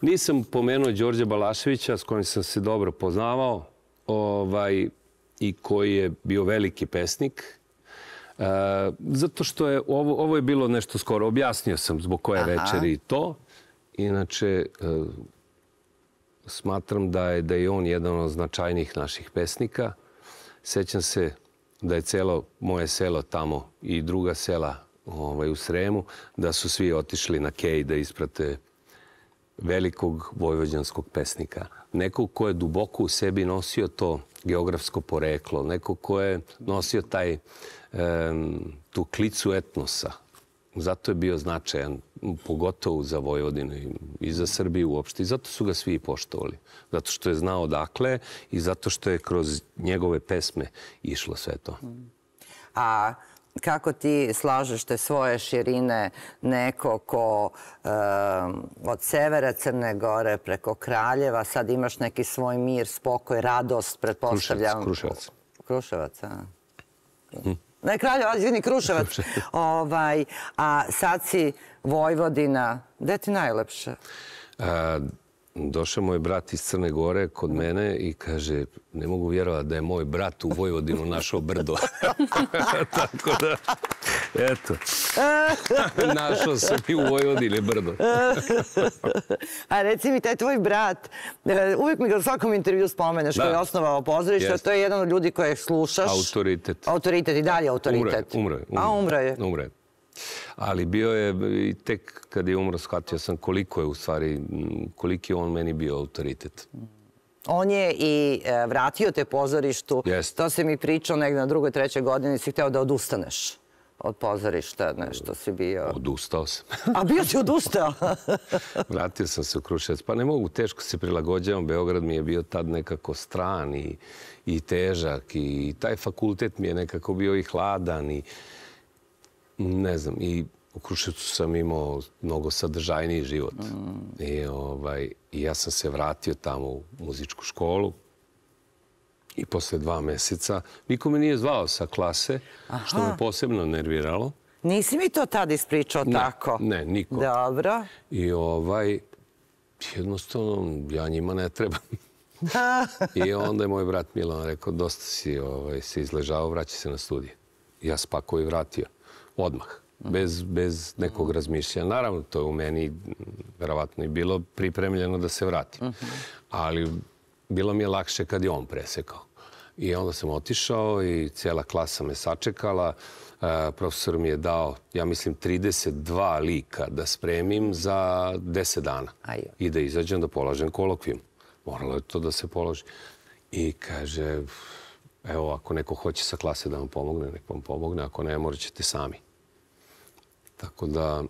Nisam pomenuo Đorđa Balaševića s kojim sam se dobro poznavao ovaj, i koji je bio veliki pesnik. E, zato što je ovo, ovo je bilo nešto skoro. Objasnio sam zbog koje večeri i to. Inače, e, smatram da je, da je on jedan od značajnijih naših pesnika. Sećam se da je celo moje selo tamo i druga sela ovaj, u Sremu, da su svi otišli na kej da isprate velikog vojvođanskog pesnika. Nekog ko je duboko u sebi nosio to geografsko poreklo, nekog ko je nosio taj, um, tu klicu etnosa zato je bio značajan, pogotovo za Vojvodinu i za Srbiju uopšte. I zato su ga svi poštovali. Zato što je znao odakle i zato što je kroz njegove pesme išlo sve to. A kako ti slažeš te svoje širine, neko ko od severa Crne Gore preko Kraljeva, sad imaš neki svoj mir, spokoj, radost, pretpostavljam. Kruševac. Kruševac, a? Ne, Kraljevo, izvini, Kruševac. A sad si Vojvodina. Gde ti najlepše? Došao moj brat iz Crne Gore kod mene i kaže, ne mogu vjerovati da je moj brat u Vojvodinu našao brdo. Tako da, eto, našao sam i u Vojvodini brdo. A reci mi, taj tvoj brat, uvijek mi ga u svakom intervju spomeneš, koji je osnovao pozorište, to je jedan od ljudi koje slušaš. Autoritet. Autoritet i dalje autoritet. Umro je. A umro je. Umro je. Ali bio je, i tek kad je umro, shvatio sam koliko je u stvari, koliki je on meni bio autoritet. On je i vratio te pozorištu. To si mi pričao negdje na drugoj, trećoj godini, si hteo da odustaneš od pozorišta, nešto si bio. Odustao sam. A bio si odustao? Vratio sam se u Kruševac. Pa ne mogu, teško se prilagođavam. Beograd mi je bio tad nekako stran i težak i taj fakultet mi je nekako bio i hladan i ne znam, i u Kruševcu sam imao mnogo sadržajniji život. I ja sam se vratio tamo u muzičku školu i posle dva meseca niko me nije zvao sa klase, što me posebno nerviralo. Nisi mi to tad ispričao tako? Ne, niko. Dobro. I jednostavno, ja njima ne trebam. I onda je moj brat Milan rekao, dosta si se izležao, vraća se na studije. Ja spako i vratio. Odmah, bez nekog razmišljanja. Naravno, to je u meni verovatno i bilo pripremljeno da se vratim. Ali bilo mi je lakše kad je on presekao. I onda sam otišao i cijela klasa me sačekala. Profesor mi je dao, ja mislim, trideset dva lika da spremim za deset dana. I da izađem da polažem kolokvijum. Moralo je to da se položi. I kaže, evo, ako neko hoće sa klase da vam pomogne, nek vam pomogne. Ako ne, morat ćete sami. Tako da,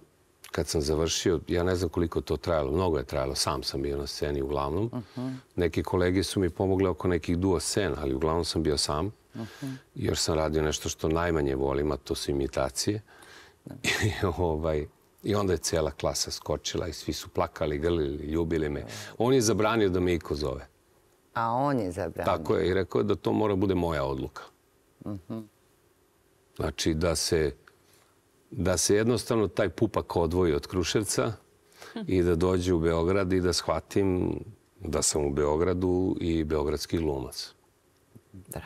kad sam završio, ja ne znam koliko to trajalo. Mnogo je trajalo. Sam sam bio na sceni uglavnom. Neki kolege su mi pomogli oko nekih duo scena, ali uglavnom sam bio sam. Još sam radio nešto što najmanje volim, a to su imitacije. I onda je cijela klasa skočila i svi su plakali, grlili, ljubili me. On je zabranio da me iko zove. A on je zabranio? Tako je. I rekao je da to mora bude moja odluka. Znači da se da se jednostavno taj pupak odvoji od Kruševca i da dođe u Beograd i da shvatim da sam u Beogradu i beogradski glumac. Bravo.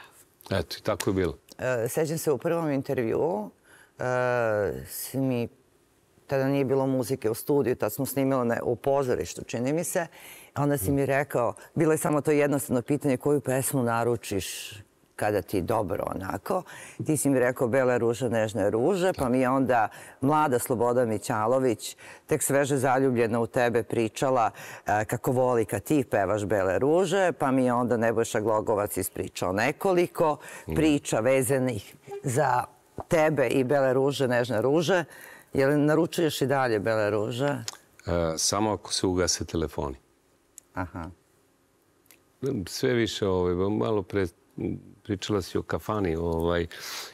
Eto, i tako je bilo. Sećam se u prvom intervjuu, si mi, tada nije bilo muzike u studiju, tad smo snimali u pozorištu, čini mi se. Onda si mi rekao, bilo je samo to jednostavno pitanje koju pesmu naručiš kada ti dobro onako. Ti si mi rekao Bele ruže, nežne ruže, pa mi je onda mlada Sloboda Mićalović, tek sveže zaljubljena u tebe, pričala kako voli kad ti pevaš Bele ruže, pa mi je onda Nebojša Glogovac ispričao nekoliko priča vezanih za tebe i Bele ruže, nežne ruže. Je li naručuješ i dalje Bele ruže? Samo ako se ugase telefoni. Aha. Sve više, malo pre pričala si o kafani.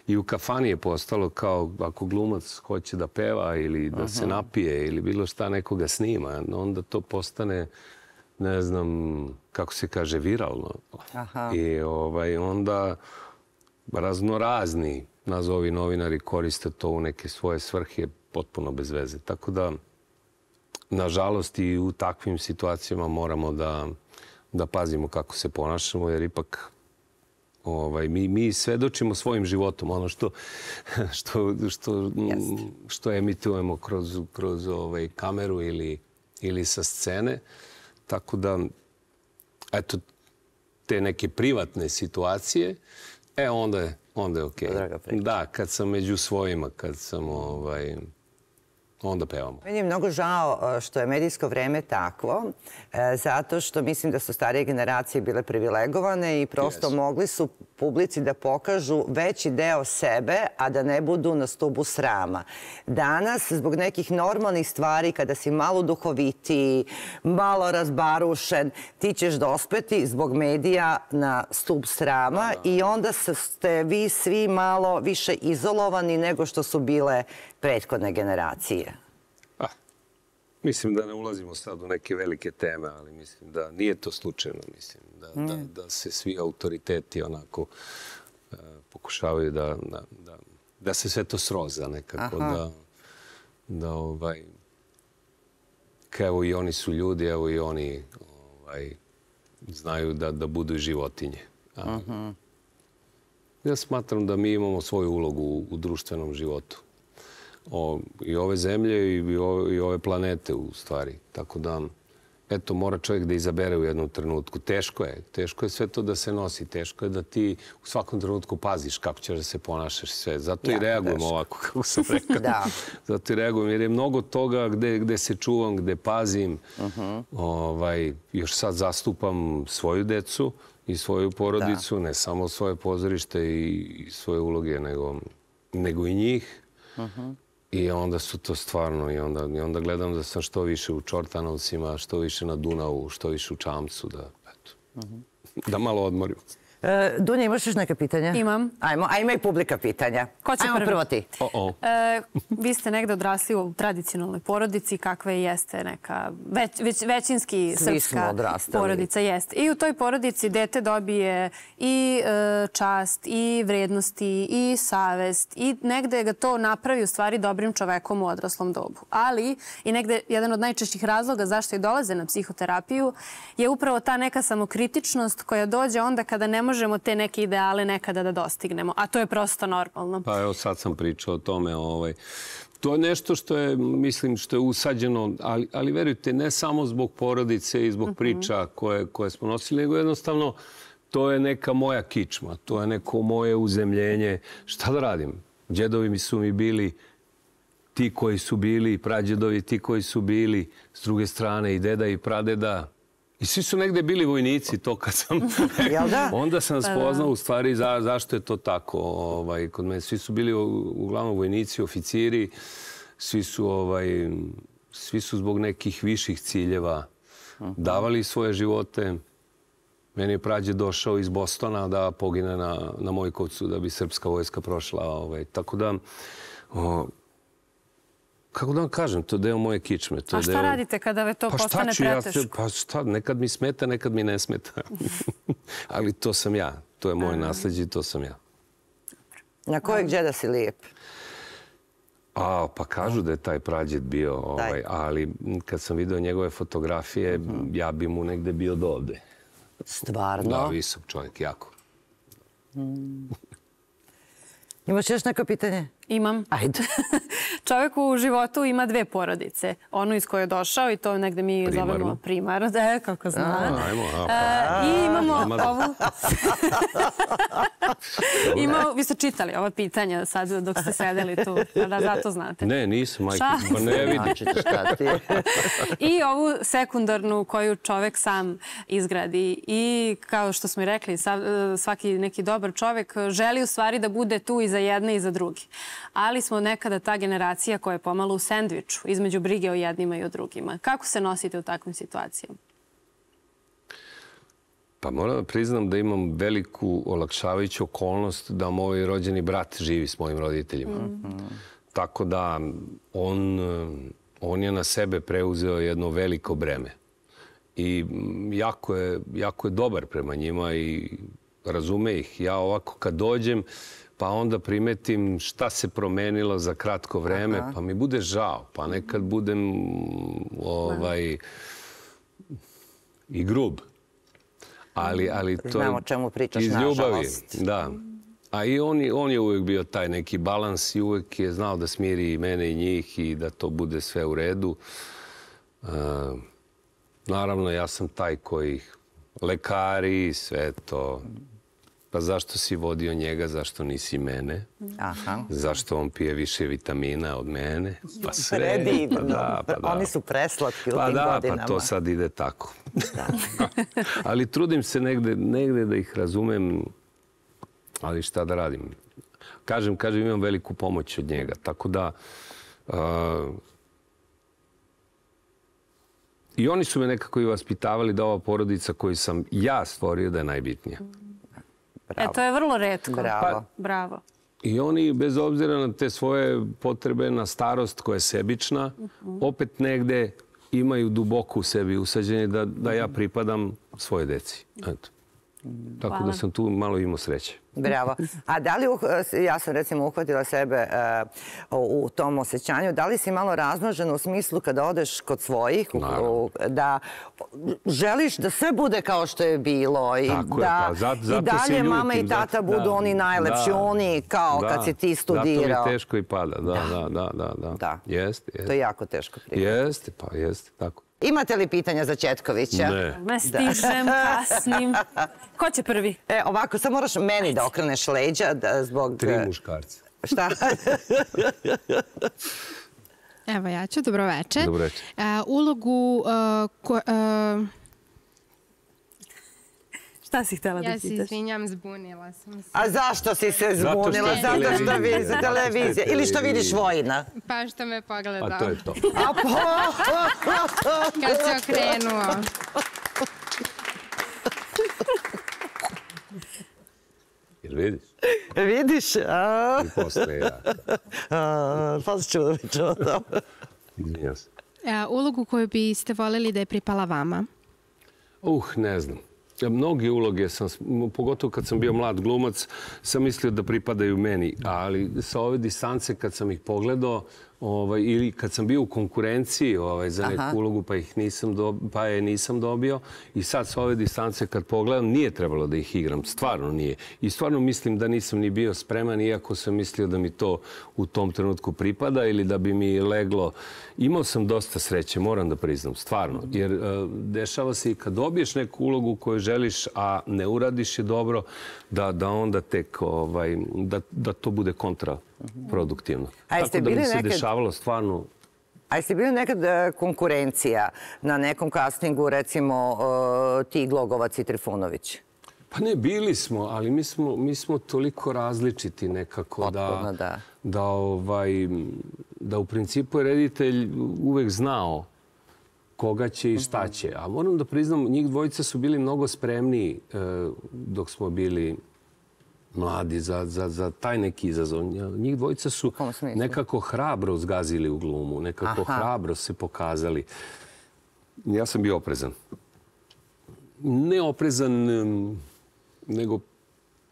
I u kafani je postalo kao ako glumac hoće da peva ili da se napije ili bilo šta nekoga snima, onda to postane, ne znam, kako se kaže, viralno. I onda raznorazni, nazovi novinari, koriste to u neke svoje svrhe potpuno bez veze. Tako da, nažalost, i u takvim situacijama moramo da pazimo kako se ponašamo, jer ipak mi svedočimo svojim životom, ono što emitujemo kroz kameru ili sa scene. Tako da, eto, te neke privatne situacije, e, onda je okej. Da, kad sam među svojima, kad sam onda pevamo. Meni je mnogo žao što je medijsko vreme takvo, zato što mislim da su starije generacije bile privilegovane i prosto mogli su publici da pokažu veći deo sebe, a da ne budu na stubu srama. Danas, zbog nekih normalnih stvari, kada si malo duhovitiji, malo razbarušen, ti ćeš dospeti zbog medija na stub srama i onda ste vi svi malo više izolovani nego što su bile prethodne generacije. Ah, mislim da ne ulazimo sad u neke velike teme, ali mislim da nije to slučajno. Mislim da, da, da se svi autoriteti onako uh, pokušavaju da, da, da, da se sve to sroza nekako. Da, da ovaj, evo i oni su ljudi, evo i oni ovaj, znaju da, da budu i životinje. A, uh-huh. Ja smatram da mi imamo svoju ulogu u, u društvenom životu. O, i ove zemlje i ove, i ove planete u stvari. Tako da, eto, mora čovjek da izabere u jednom trenutku. Teško je. Teško je sve to da se nosi. Teško je da ti u svakom trenutku paziš kako ćeš da se ponašaš sve. Zato ja, i reagujem teško. Ovako, kako sam rekao. Da. Zato i reagujem, jer je mnogo toga gde, gde se čuvam, gde pazim. Uh-huh. ovaj, još sad zastupam svoju decu i svoju porodicu, da. Ne samo svoje pozorište i, i svoje uloge, nego, nego i njih. Uh-huh. I onda su to stvarno, i onda, i onda gledam da sam što više u Čortanovcima, što više na Dunavu, što više u Čamcu, da, eto, uh-huh. da malo odmorim. E, Dunja, imaš još neka pitanja? Imam. Ajmo, a ima i publika pitanja. Ko će Ajmo prvi? Prvo ti. Oh-oh. E, vi ste negde odrasli u tradicionalnoj porodici, kakva jeste neka već, već, većinski Svi srpska porodica. Jeste. I u toj porodici dete dobije i e, čast, i vrednosti, i savest, i negde ga to napravi u stvari dobrim čovekom u odraslom dobu. Ali i negde jedan od najčešćih razloga zašto i dolaze na psihoterapiju je upravo ta neka samokritičnost koja dođe onda kada ne možemo te neke ideale nekada da dostignemo. A to je prosto normalno. Pa evo sad sam pričao o tome. Ovaj. To je nešto što je, mislim, što je usađeno, ali, ali verujte, ne samo zbog porodice i zbog uh-huh. priča koje, koje smo nosili, nego jednostavno to je neka moja kičma, to je neko moje uzemljenje. Šta da radim? Džedovi mi su mi bili ti koji su bili, prađedovi ti koji su bili, s druge strane i deda i pradeda. I svi su negde bili vojnici, to kad sam... Onda sam spoznao u stvari za, zašto je to tako. Ovaj, kod mene svi su bili uglavnom vojnici, oficiri, svi su, ovaj, svi su zbog nekih viših ciljeva davali svoje živote. Meni je prađe došao iz Bostona da pogine na, na Mojkovcu da bi srpska vojska prošla. Ovaj. Tako da... O, kako da vam kažem, to je deo moje kičme. To A šta deo... radite kada to pa postane preteško? Ja, pa šta, nekad mi smeta, nekad mi ne smeta. Ali to sam ja. To je moje nasleđe i to sam ja. Na kojeg džeda si lijep? A, pa kažu da je taj prađed bio, ovaj, ali kad sam video njegove fotografije, uh-huh. ja bi mu negde bio do ovde. Stvarno? Da, visok čovjek, jako. Hmm. Imaš još neko pitanje? Imam. Ajde. Čovjek u životu ima dve porodice. Onu iz koje je došao i to negde mi Primarno. Zovemo primar. Da, kako zna. A, ajmo, a, pa. E, I imamo ovu... Imamo, vi ste čitali ova pitanja sad dok ste sedeli tu. Da, zato znate. Ne, nisam, majke. Pa ne vidim. Šta ti je? I ovu sekundarnu koju čovjek sam izgradi. I kao što smo i rekli, svaki neki dobar čovjek želi u stvari da bude tu i za jedne i za drugi. Ali smo nekada ta generacija koja je pomalo u sendviču između brige o jednima i o drugima. Kako se nosite u takvim situacijama? Pa moram da priznam da imam veliku olakšavajuću okolnost da moj rođeni brat živi s mojim roditeljima. Mm-hmm. Tako da on, on je na sebe preuzeo jedno veliko breme. I jako je, jako je dobar prema njima i razume ih. Ja ovako kad dođem, pa onda primetim šta se promenilo za kratko vreme, Aha. pa mi bude žao. Pa nekad budem ovaj, i grub. Ali, ali to Znamo o čemu pričaš, iz ljubavi. Nažalost. Da. A i on, on je uvijek bio taj neki balans i uvijek je znao da smiri i mene i njih i da to bude sve u redu. Uh, naravno, ja sam taj koji lekari, sve to... Pa zašto si vodio njega, zašto nisi mene? Aha. Zašto on pije više vitamina od mene? Pa sve. Predivno. Pa da, pa da. Oni su preslatki u pa tim da, godinama. Pa to sad ide tako. Ali trudim se negde, negde da ih razumem, ali šta da radim. Kažem, kažem, imam veliku pomoć od njega. Tako da... Uh, I oni su me nekako i vaspitavali da ova porodica koju sam ja stvorio da je najbitnija. E, to je vrlo retko. Bravo. Bravo. I oni, bez obzira na te svoje potrebe, na starost koja je sebična, opet negde imaju duboko u sebi usađenje da, da ja pripadam svoje deci. Eto. Tako Hvala. Da sam tu malo imao sreće. Bravo. A da li, ja sam recimo uhvatila sebe uh, u tom osjećanju, da li si malo razmnožena u smislu kada odeš kod svojih, u, da želiš da sve bude kao što je bilo i Tako da je, pa, zato, zato i dalje ljutim, mama i tata zato, budu da, oni najlepši, da, oni kao da, kad si ti studirao. Zato mi teško i pada, da, da, da. da, da. Da. Jeste, jeste. To je jako teško prihvatiti. Jeste, pa jeste, tako. Imate li pitanja za Četkovića? Ne. Me stižem, kasnim. Ko će prvi? E, ovako, sad moraš meni da okreneš leđa da, zbog... Tri muškarca. Šta? Evo ja ću, dobro večer. Dobro večer. Uh, ulogu... Uh, ko, uh, Šta si htjela da ja se pitaš? izvinjam, zbunila sam se. A zašto si se Zato što zbunila? je Zato što televizija. vi za televizije. Ili što vidiš Vojina? Pa što me pogledao. A to je to. A po... Kad se okrenuo. Jer vidiš? Vidiš? A, I posle ja. a, pa ćemo da pričamo o tome. Izvinjam se. Uh, ulogu koju biste voljeli da je pripala vama? Uh, ne znam. Mnogi uloge sam, pogotovo kad sam bio mlad glumac, sam mislio da pripadaju meni, ali sa ove distance kad sam ih pogledao, ovaj, ili kad sam bio u konkurenciji ovaj, za neku Aha. ulogu pa, ih nisam do, pa je nisam dobio i sad sa ove distance kad pogledam nije trebalo da ih igram, stvarno nije. I stvarno mislim da nisam ni bio spreman iako sam mislio da mi to u tom trenutku pripada ili da bi mi leglo. Imao sam dosta sreće, moram da priznam, stvarno. Jer uh, dešava se i kad dobiješ neku ulogu koju želiš, a ne uradiš je dobro, da, da onda tek ovaj, da, da to bude kontraproduktivno. A jeste Tako da mi bili se nekad- dešavalo stvarno... A jeste bili nekad e, konkurencija na nekom castingu, recimo e, ti Glogovac i Trifunović? Pa ne, bili smo, ali mi smo, mi smo toliko različiti nekako Potpuno, da, da. da, ovaj, da u principu je reditelj uvek znao koga će i šta će. A moram da priznam, njih dvojica su bili mnogo spremniji e, dok smo bili mladi za, za, za taj neki izazov. Njih dvojica su kom smislu? nekako hrabro zgazili u glumu, nekako Aha. hrabro se pokazali. Ja sam bio oprezan. Ne oprezan em, nego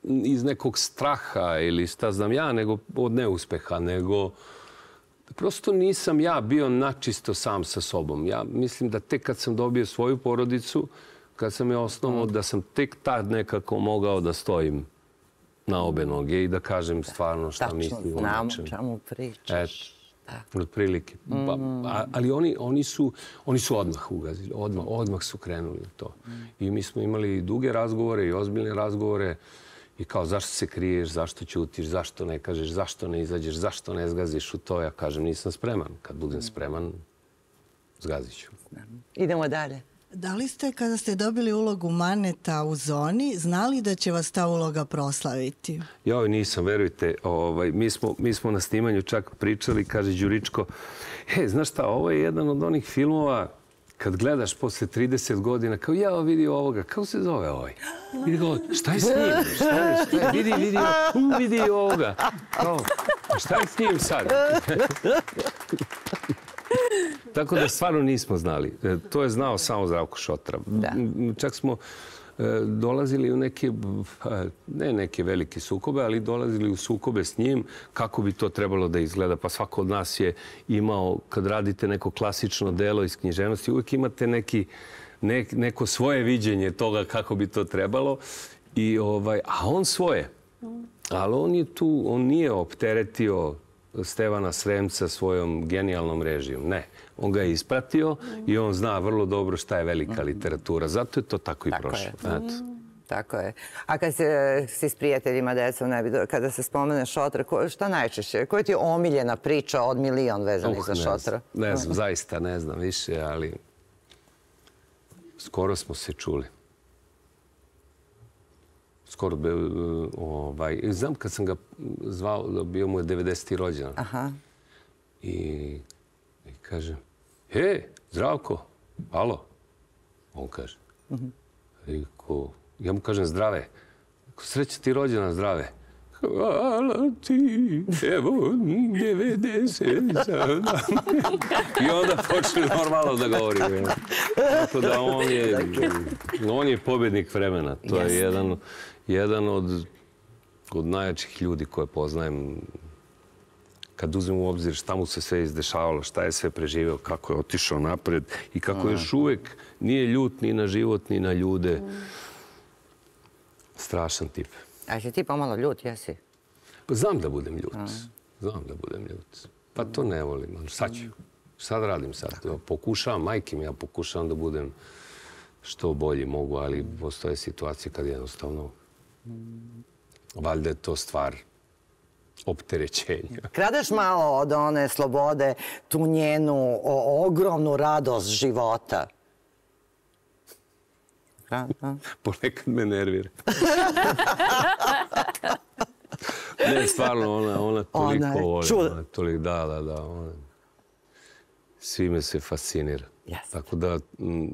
iz nekog straha ili šta znam ja, nego od neuspeha, nego prosto nisam ja bio načisto sam sa sobom. Ja mislim da tek kad sam dobio svoju porodicu, kad sam je osnovao, da sam tek tad nekako mogao da stojim na obe noge i da kažem stvarno šta Tačno, mislim o znam o nečemu. čemu pričaš. Eto, otprilike. Pa, a- ali oni, oni, su, oni su odmah ugazili, odmah, odmah su krenuli u to. I mi smo imali duge razgovore i ozbiljne razgovore i kao zašto se kriješ, zašto ćutiš, zašto ne kažeš, zašto ne izađeš, zašto ne zgaziš u to. Ja kažem nisam spreman. Kad budem spreman, zgazit ću. Idemo dalje. Da li ste, kada ste dobili ulogu Maneta u Zoni, znali da će vas ta uloga proslaviti? Joj, nisam, verujte. Ovaj, mi, smo, mi smo na snimanju čak pričali, kaže Đuričko, he, znaš šta, ovo je jedan od onih filmova kad gledaš posle trideset godina, kao ja vidi ovoga, kako se zove ovaj? Vidi go, šta je s njim? Šta je, šta je? Vidi, vidi, u, vidi ovoga. Kao, šta je s njim sad? Tako da stvarno nismo znali. E, To je znao samo Zdravko Šotra. Da. M, Čak smo e, dolazili u neke, pa, ne neke velike sukobe, ali dolazili u sukobe s njim kako bi to trebalo da izgleda. Pa svako od nas je imao, kad radite neko klasično delo iz književnosti, uvijek imate neki, ne, neko svoje viđenje toga kako bi to trebalo. I, ovaj, a on svoje. Ali on je tu, on nije opteretio Stevana Sremca svojom genijalnom režijom. Ne. On ga je ispratio i on zna vrlo dobro šta je velika literatura. Zato je to tako i Tako prošlo. je. Eto. Tako je. A kad se, si s prijateljima, decom, ne bi, kada se spomene šotra, ko, šta najčešće? Koja ti je omiljena priča od milion vezanih uh, za šotra? Ne znam, zaista ne znam više, ali skoro smo se čuli. Skoro be, ovaj, znam kad sam ga zvao, bio mu je devedeseti rođendan. Aha. I, i kaže, he, Zdravko, alo. On kaže. Uh-huh. I ko, ja mu kažem zdrave. Sreća ti rođena, zdrave. Hvala ti, evo, devedeset sada. I onda počeli normalno da govorimo. Tako da on je, on je pobjednik vremena. To je jedan, jedan od, od najjačih ljudi koje poznajem. Kad uzmem u obzir šta mu se sve izdešavalo, šta je sve preživeo, kako je otišao napred i kako još uvek nije ljut ni na život, ni na ljude. Strašan tip. A si ti pomalo ljut, jesi? Pa znam da budem ljut. Znam da budem ljut. Pa to ne volim. Sad ću. Šta da radim sad? Pokušavam, majke mi, ja pokušavam da budem što bolji mogu, ali postoje situacije kad jednostavno valjda je to stvar opterećenja. Kradeš malo od one slobode, tu njenu o, ogromnu radost života. Ponekad me nervira. Ne, stvarno, ona, ona toliko ona voli. Čud... Ona toliko, da, da, da. Ona, svi me se fascinira. Yes. Tako da,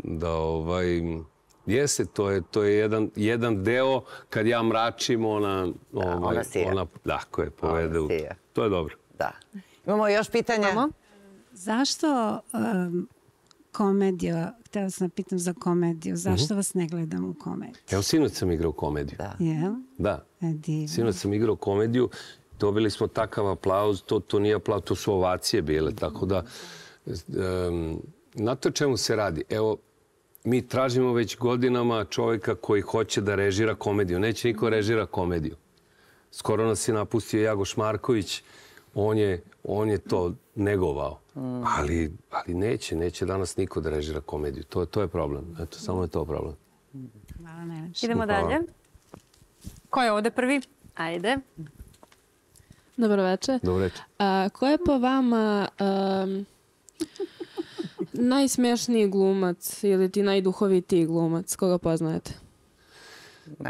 da ovaj, jeste, to je, to je jedan, jedan deo kad ja mračim, ona, da, ovaj, ona sija. Ona, da, koje povede u to. To je dobro. Da. Imamo još pitanja? Mamo? Zašto um, komedija, htjela sam pitam za komediju, zašto uh-huh. vas ne gledam u komediju? Evo, sinoć sam igrao komediju. Da. Jel? Da. E, sinoć sam igrao komediju, dobili smo takav aplauz, to, to nije aplauz, to su ovacije bile, tako da... Um, na to čemu se radi? Evo, mi tražimo već godinama čovjeka koji hoće da režira komediju. Neće niko režira komediju. Skoro nas je napustio Jagoš Marković. On je, on je to negovao. Mm. Ali, ali neće, neće danas niko da režira komediju. To, to je problem. Eto, samo je to problem. Hvala, Neveč. Idemo dalje. Ko je ovde prvi? Ajde. Dobro večer. Dobro večer. A, ko je po vama um, najsmešniji glumac ili ti najduhovitiji glumac? Koga poznajete?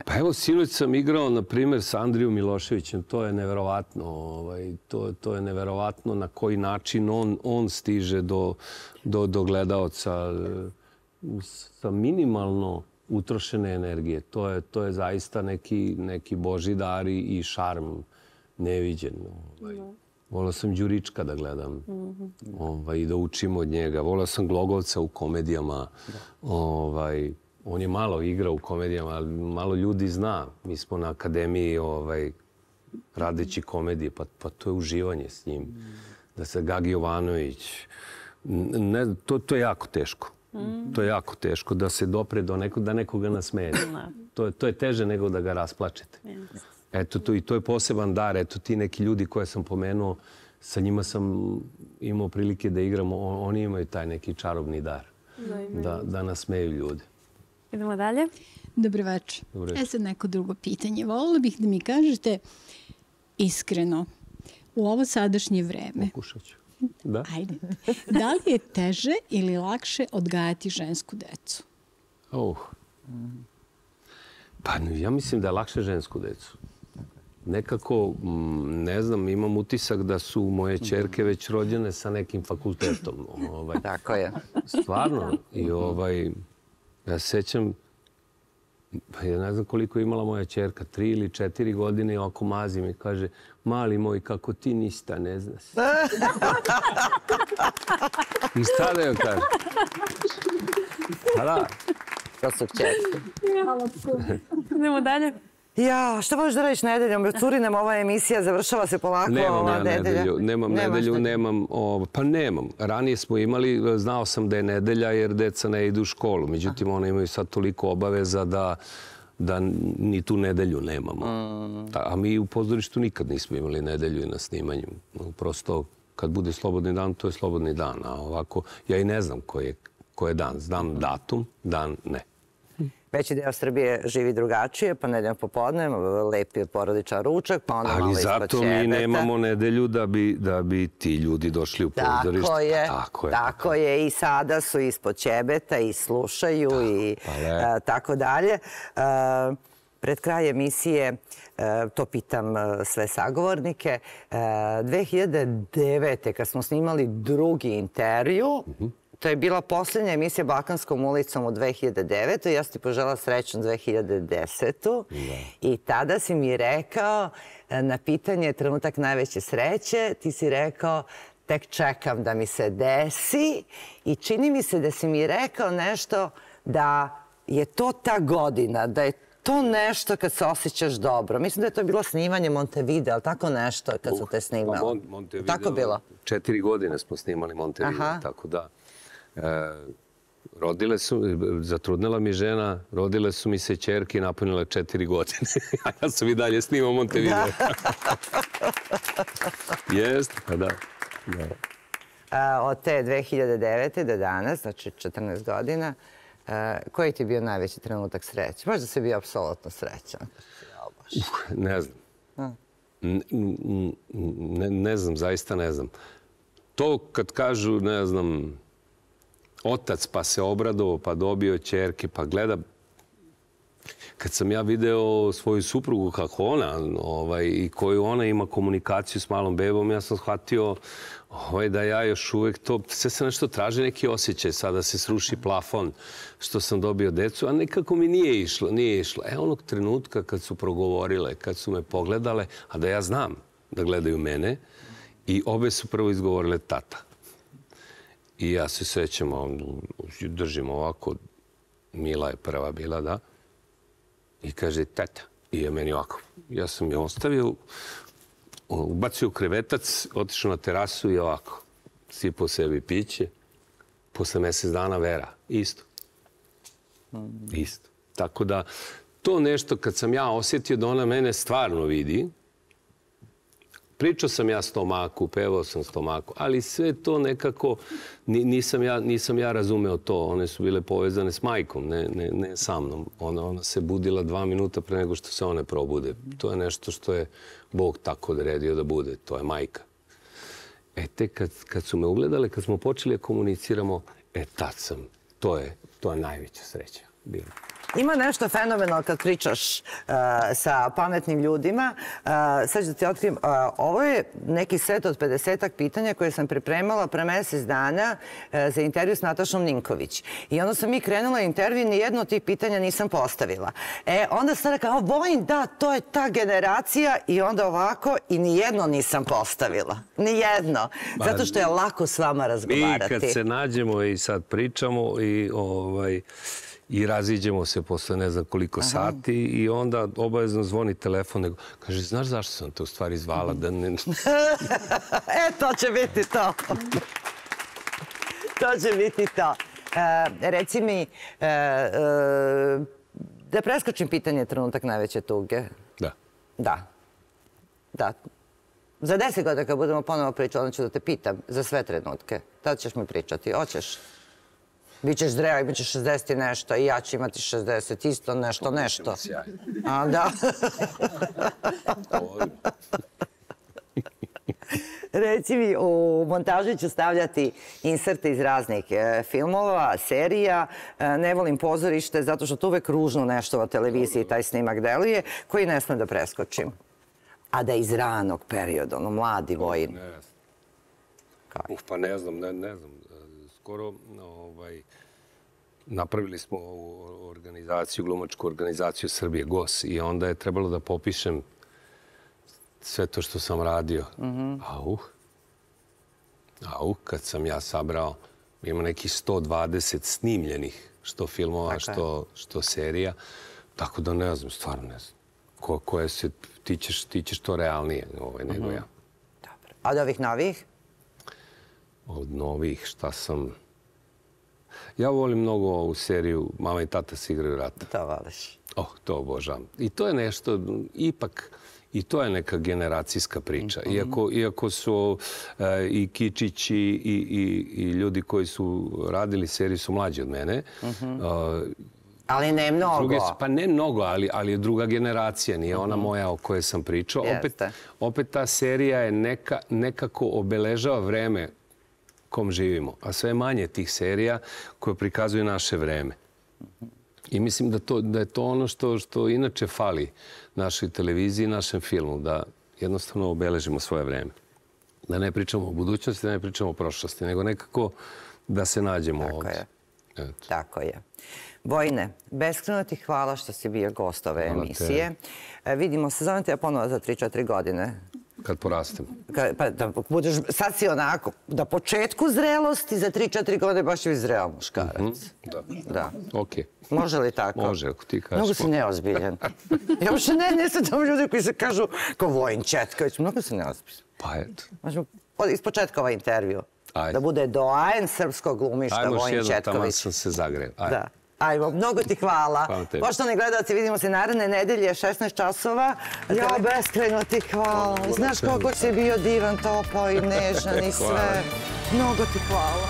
Pa evo, sinoć sam igrao, na primjer, sa Andrijom Miloševićem. To je neverovatno. Ovaj, to, to je neverovatno na koji način on, on stiže do, do, do gledaoca sa minimalno utrošene energije. To je, to je zaista neki, neki božji dar i šarm neviđen. Ovaj. Volao sam Đurička da gledam mm-hmm. ovaj, i da učim od njega. Volao sam Glogovca u komedijama. Ovaj, on je malo igrao u komedijama, ali malo ljudi zna. Mi smo na akademiji ovaj, radeći komedije, pa, pa to je uživanje s njim. Mm. Da se Gagi Jovanović... Ne, to, to je jako teško. Mm. To je jako teško da se dopre do nekog, da nekoga nasmejete. to, je, to je teže nego da ga rasplačete. Yes. Eto, to, i to je poseban dar. Eto, ti neki ljudi koje sam pomenuo, sa njima sam imao prilike da igram. Oni imaju taj neki čarobni dar. Da, da, da nasmeju ljude. Idemo dalje. Dobro večer. Dobro večer. E sad neko drugo pitanje. Volila bih da mi kažete iskreno, u ovo sadašnje vreme. Pokušat ću. Da. Ajde. Da li je teže ili lakše odgajati žensku decu? Oh. Pa ja mislim da je lakše žensku decu. Nekako, ne znam, imam utisak da su moje ćerke već rođene sa nekim fakultetom. Ovaj, Tako je. Stvarno. I ovaj, ja se sjećam, pa ja ne znam koliko je imala moja ćerka, tri ili četiri godine i ovako mazi mi kaže, mali moj, kako ti nista ne znaš. I šta da joj kaže? Pa da. To su ćerke. Idemo dalje. Ja, šta možeš da radiš nedeljom? Curi nam ova emisija, završava se polako nemam ova ja nedelja. Nedelju, nemam Nemaš nedelju, nedelju. nemam... O, pa nemam. Ranije smo imali, znao sam da je nedelja jer deca ne idu u školu. Međutim, one imaju sad toliko obaveza da, da ni tu nedelju nemamo. Mm. A mi u pozorištu nikad nismo imali nedelju i na snimanju. Prosto, kad bude slobodni dan, to je slobodni dan. A ovako, ja i ne znam koji je, koji je dan. Znam datum, dan ne. Veći deo Srbije živi drugačije, pa nedeljom popodne, lepi porodičan ručak, pa onda malo Ali ispod zato mi ćebeta. nemamo nedelju da bi, da bi ti ljudi došli u pozorište. Tako je, tako je. tako je. I sada su ispod ćebeta i slušaju Tako, i pa e, tako dalje. E, Pred kraj emisije, e, to pitam e, sve sagovornike, e, dve hiljade devete. kad smo snimali drugi intervju, to je bila posljednja emisija Balkanskom ulicom u dve hiljade devetoj. Ja sam ti požela srećnu dve hiljade desetu. I tada si mi rekao, e, na pitanje trenutak najveće sreće, ti si rekao tek čekam da mi se desi i čini mi se da si mi rekao nešto da je to ta godina, da je to nešto kad se osjećaš dobro. Mislim da je to bilo snimanje Montevideo, ali tako nešto kad su te snimali. Tako bilo? Četiri godine smo snimali Montevideo, tako da. Rodile su, zatrudnila mi žena, rodile su mi se ćerke i napunile četiri godine. A ja sam i dalje snimao Montevideo. Jeste, pa da. Od te dve hiljade devete do danas, znači četrnaest godina, koji ti je bio najveći trenutak sreće? Možda si bio apsolutno srećan. Ne znam. Ne znam, zaista ne znam. To kad kažu, ne znam, otac pa se obradovao, pa dobio ćerke, pa gleda. Kad sam ja video svoju suprugu kako ona i koju ona ima komunikaciju s malom bebom, ja sam shvatio da ja još uvek to, sve se nešto traži neki osjećaj, sada se sruši plafon što sam dobio decu, a nekako mi nije išlo, nije išlo. E, onog trenutka kad su progovorile, kad su me pogledale, a da ja znam da gledaju mene, i obe su prvo izgovorile tata. I ja se sećam, držim ovako, Mila je prva bila, da, i kaže tata. I je meni ovako. Ja sam je ostavio, ubacio u krevetac, otišao na terasu i ovako. Sipao sebi piće. Posle mesec dana Vera. Isto. Isto. Tako da, to nešto kad sam ja osjetio da ona mene stvarno vidi, pričao sam ja stomaku, pevao sam stomaku, ali sve to nekako nisam ja, nisam ja razumeo to. One su bile povezane s majkom, ne, ne, ne sa mnom. Ona, ona se budila dva minuta pre nego što se one probude. To je nešto što je Bog tako odredio da bude. To je majka. E, te kad, kad su me ugledale, kad smo počeli da komuniciramo, e, tad sam. To je, to je najveća sreća bila. Ima nešto fenomenalno kad pričaš uh, sa pametnim ljudima. Uh, sad ću da ti otkrijem. Uh, ovo je neki set od pedesetak pitanja koje sam pripremala pre mesec dana uh, za intervju s Natašom Ninković. I onda sam mi krenula intervju i nijedno od tih pitanja nisam postavila. E, onda sam rekao, Vojin, da, to je ta generacija i onda ovako i nijedno nisam postavila. Nijedno. Zato što je lako s vama razgovarati. Mi kad se nađemo i sad pričamo i ovaj... i raziđemo se posle ne znam koliko sati i onda obavezno zvoni telefon. Nego, kaže, znaš zašto sam te u stvari zvala? Da ne... E, to će biti to. To će biti to. E, reci mi, e, e, da preskočim pitanje trenutak najveće tuge. Da. Da. Da. Za deset godina kad budemo ponovo pričati, onda ću da te pitam za sve trenutke. Tada ćeš mi pričati. Hoćeš? Bićeš zreo, imat ćeš šezdeset i nešto, i ja ću imati šezdeset, isto nešto, nešto. A, da. Reci mi, u montaži ću stavljati inserte iz raznih filmova, serija. Ne volim pozorište, zato što to uvek ružno nešto na televiziji taj snimak deluje, koji ne smem da preskočim. A da iz ranog perioda, ono, mladi Vojin. Uf, pa ne znam, ne znam. Skoro napravili smo organizaciju, glumačku organizaciju Srbije, G O S, i onda je trebalo da popišem sve to što sam radio. Auh. Auh, kad sam ja sabrao, ima nekih sto dvadeset snimljenih, što filmova, što serija. Tako da ne znam, stvarno ne znam. Koje se, ti ćeš to realnije nego ja. A od ovih novih? Od novih, šta sam... Ja volim mnogo ovu seriju Mama i tata se igraju rata. To voliš. Oh, to obožavam. I to je nešto, ipak, i to je neka generacijska priča. Iako su i Kičići i ljudi koji su radili seriju su mlađi od mene, Ali ne mnogo. Pa ne mnogo, ali, ali je druga generacija. Nije ona moja o kojoj sam pričao. Opet, opet ta serija je neka, nekako obeležava vreme kom živimo. A sve manje tih serija koje prikazuju naše vreme. I mislim da, to, da je to ono što, što inače fali našoj televiziji i našem filmu. Da jednostavno obeležimo svoje vreme. Da ne pričamo o budućnosti, da ne pričamo o prošlosti, nego nekako da se nađemo Tako ovdje. je. Eto. Tako je. Vojne, beskreno ti hvala što si bio gost ove Hvala emisije. E, vidimo se, zovem te ja ponovo za tri četiri godine. Kad porastem. Ka, pa da budeš, sad si onako, da početku zrelosti za tri četiri godine baš će biti zreo muškarac. Mm-hmm. Da. Da. Okej. Može li tako? Može, ako ti kažeš. Mnogo si neozbiljan. Ja uopšte ne, ne srećam ljudi koji se kažu kao Vojin Četković. Mnogo si neozbiljan. Pa eto. Možemo iz početka ovaj intervju. Ajde. Da bude doajen srpskog glumišta Vojin Četković. Ajmo još jedno, tamo sam se zagreo. Ajde. Da. Ajmo, mnogo ti hvala. Hvala tebi. Poštovani gledalci, vidimo se naredne nedelje, šesnaest časova. Ja, beskreno ti hvala. Znaš koliko si bio divan, topao i nežan i sve. Mnogo ti hvala.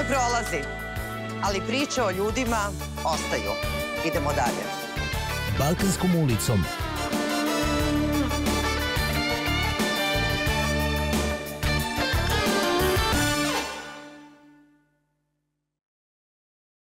Prolazi, ali priče o ljudima ostaju. Idemo dalje. Balkanskom ulicom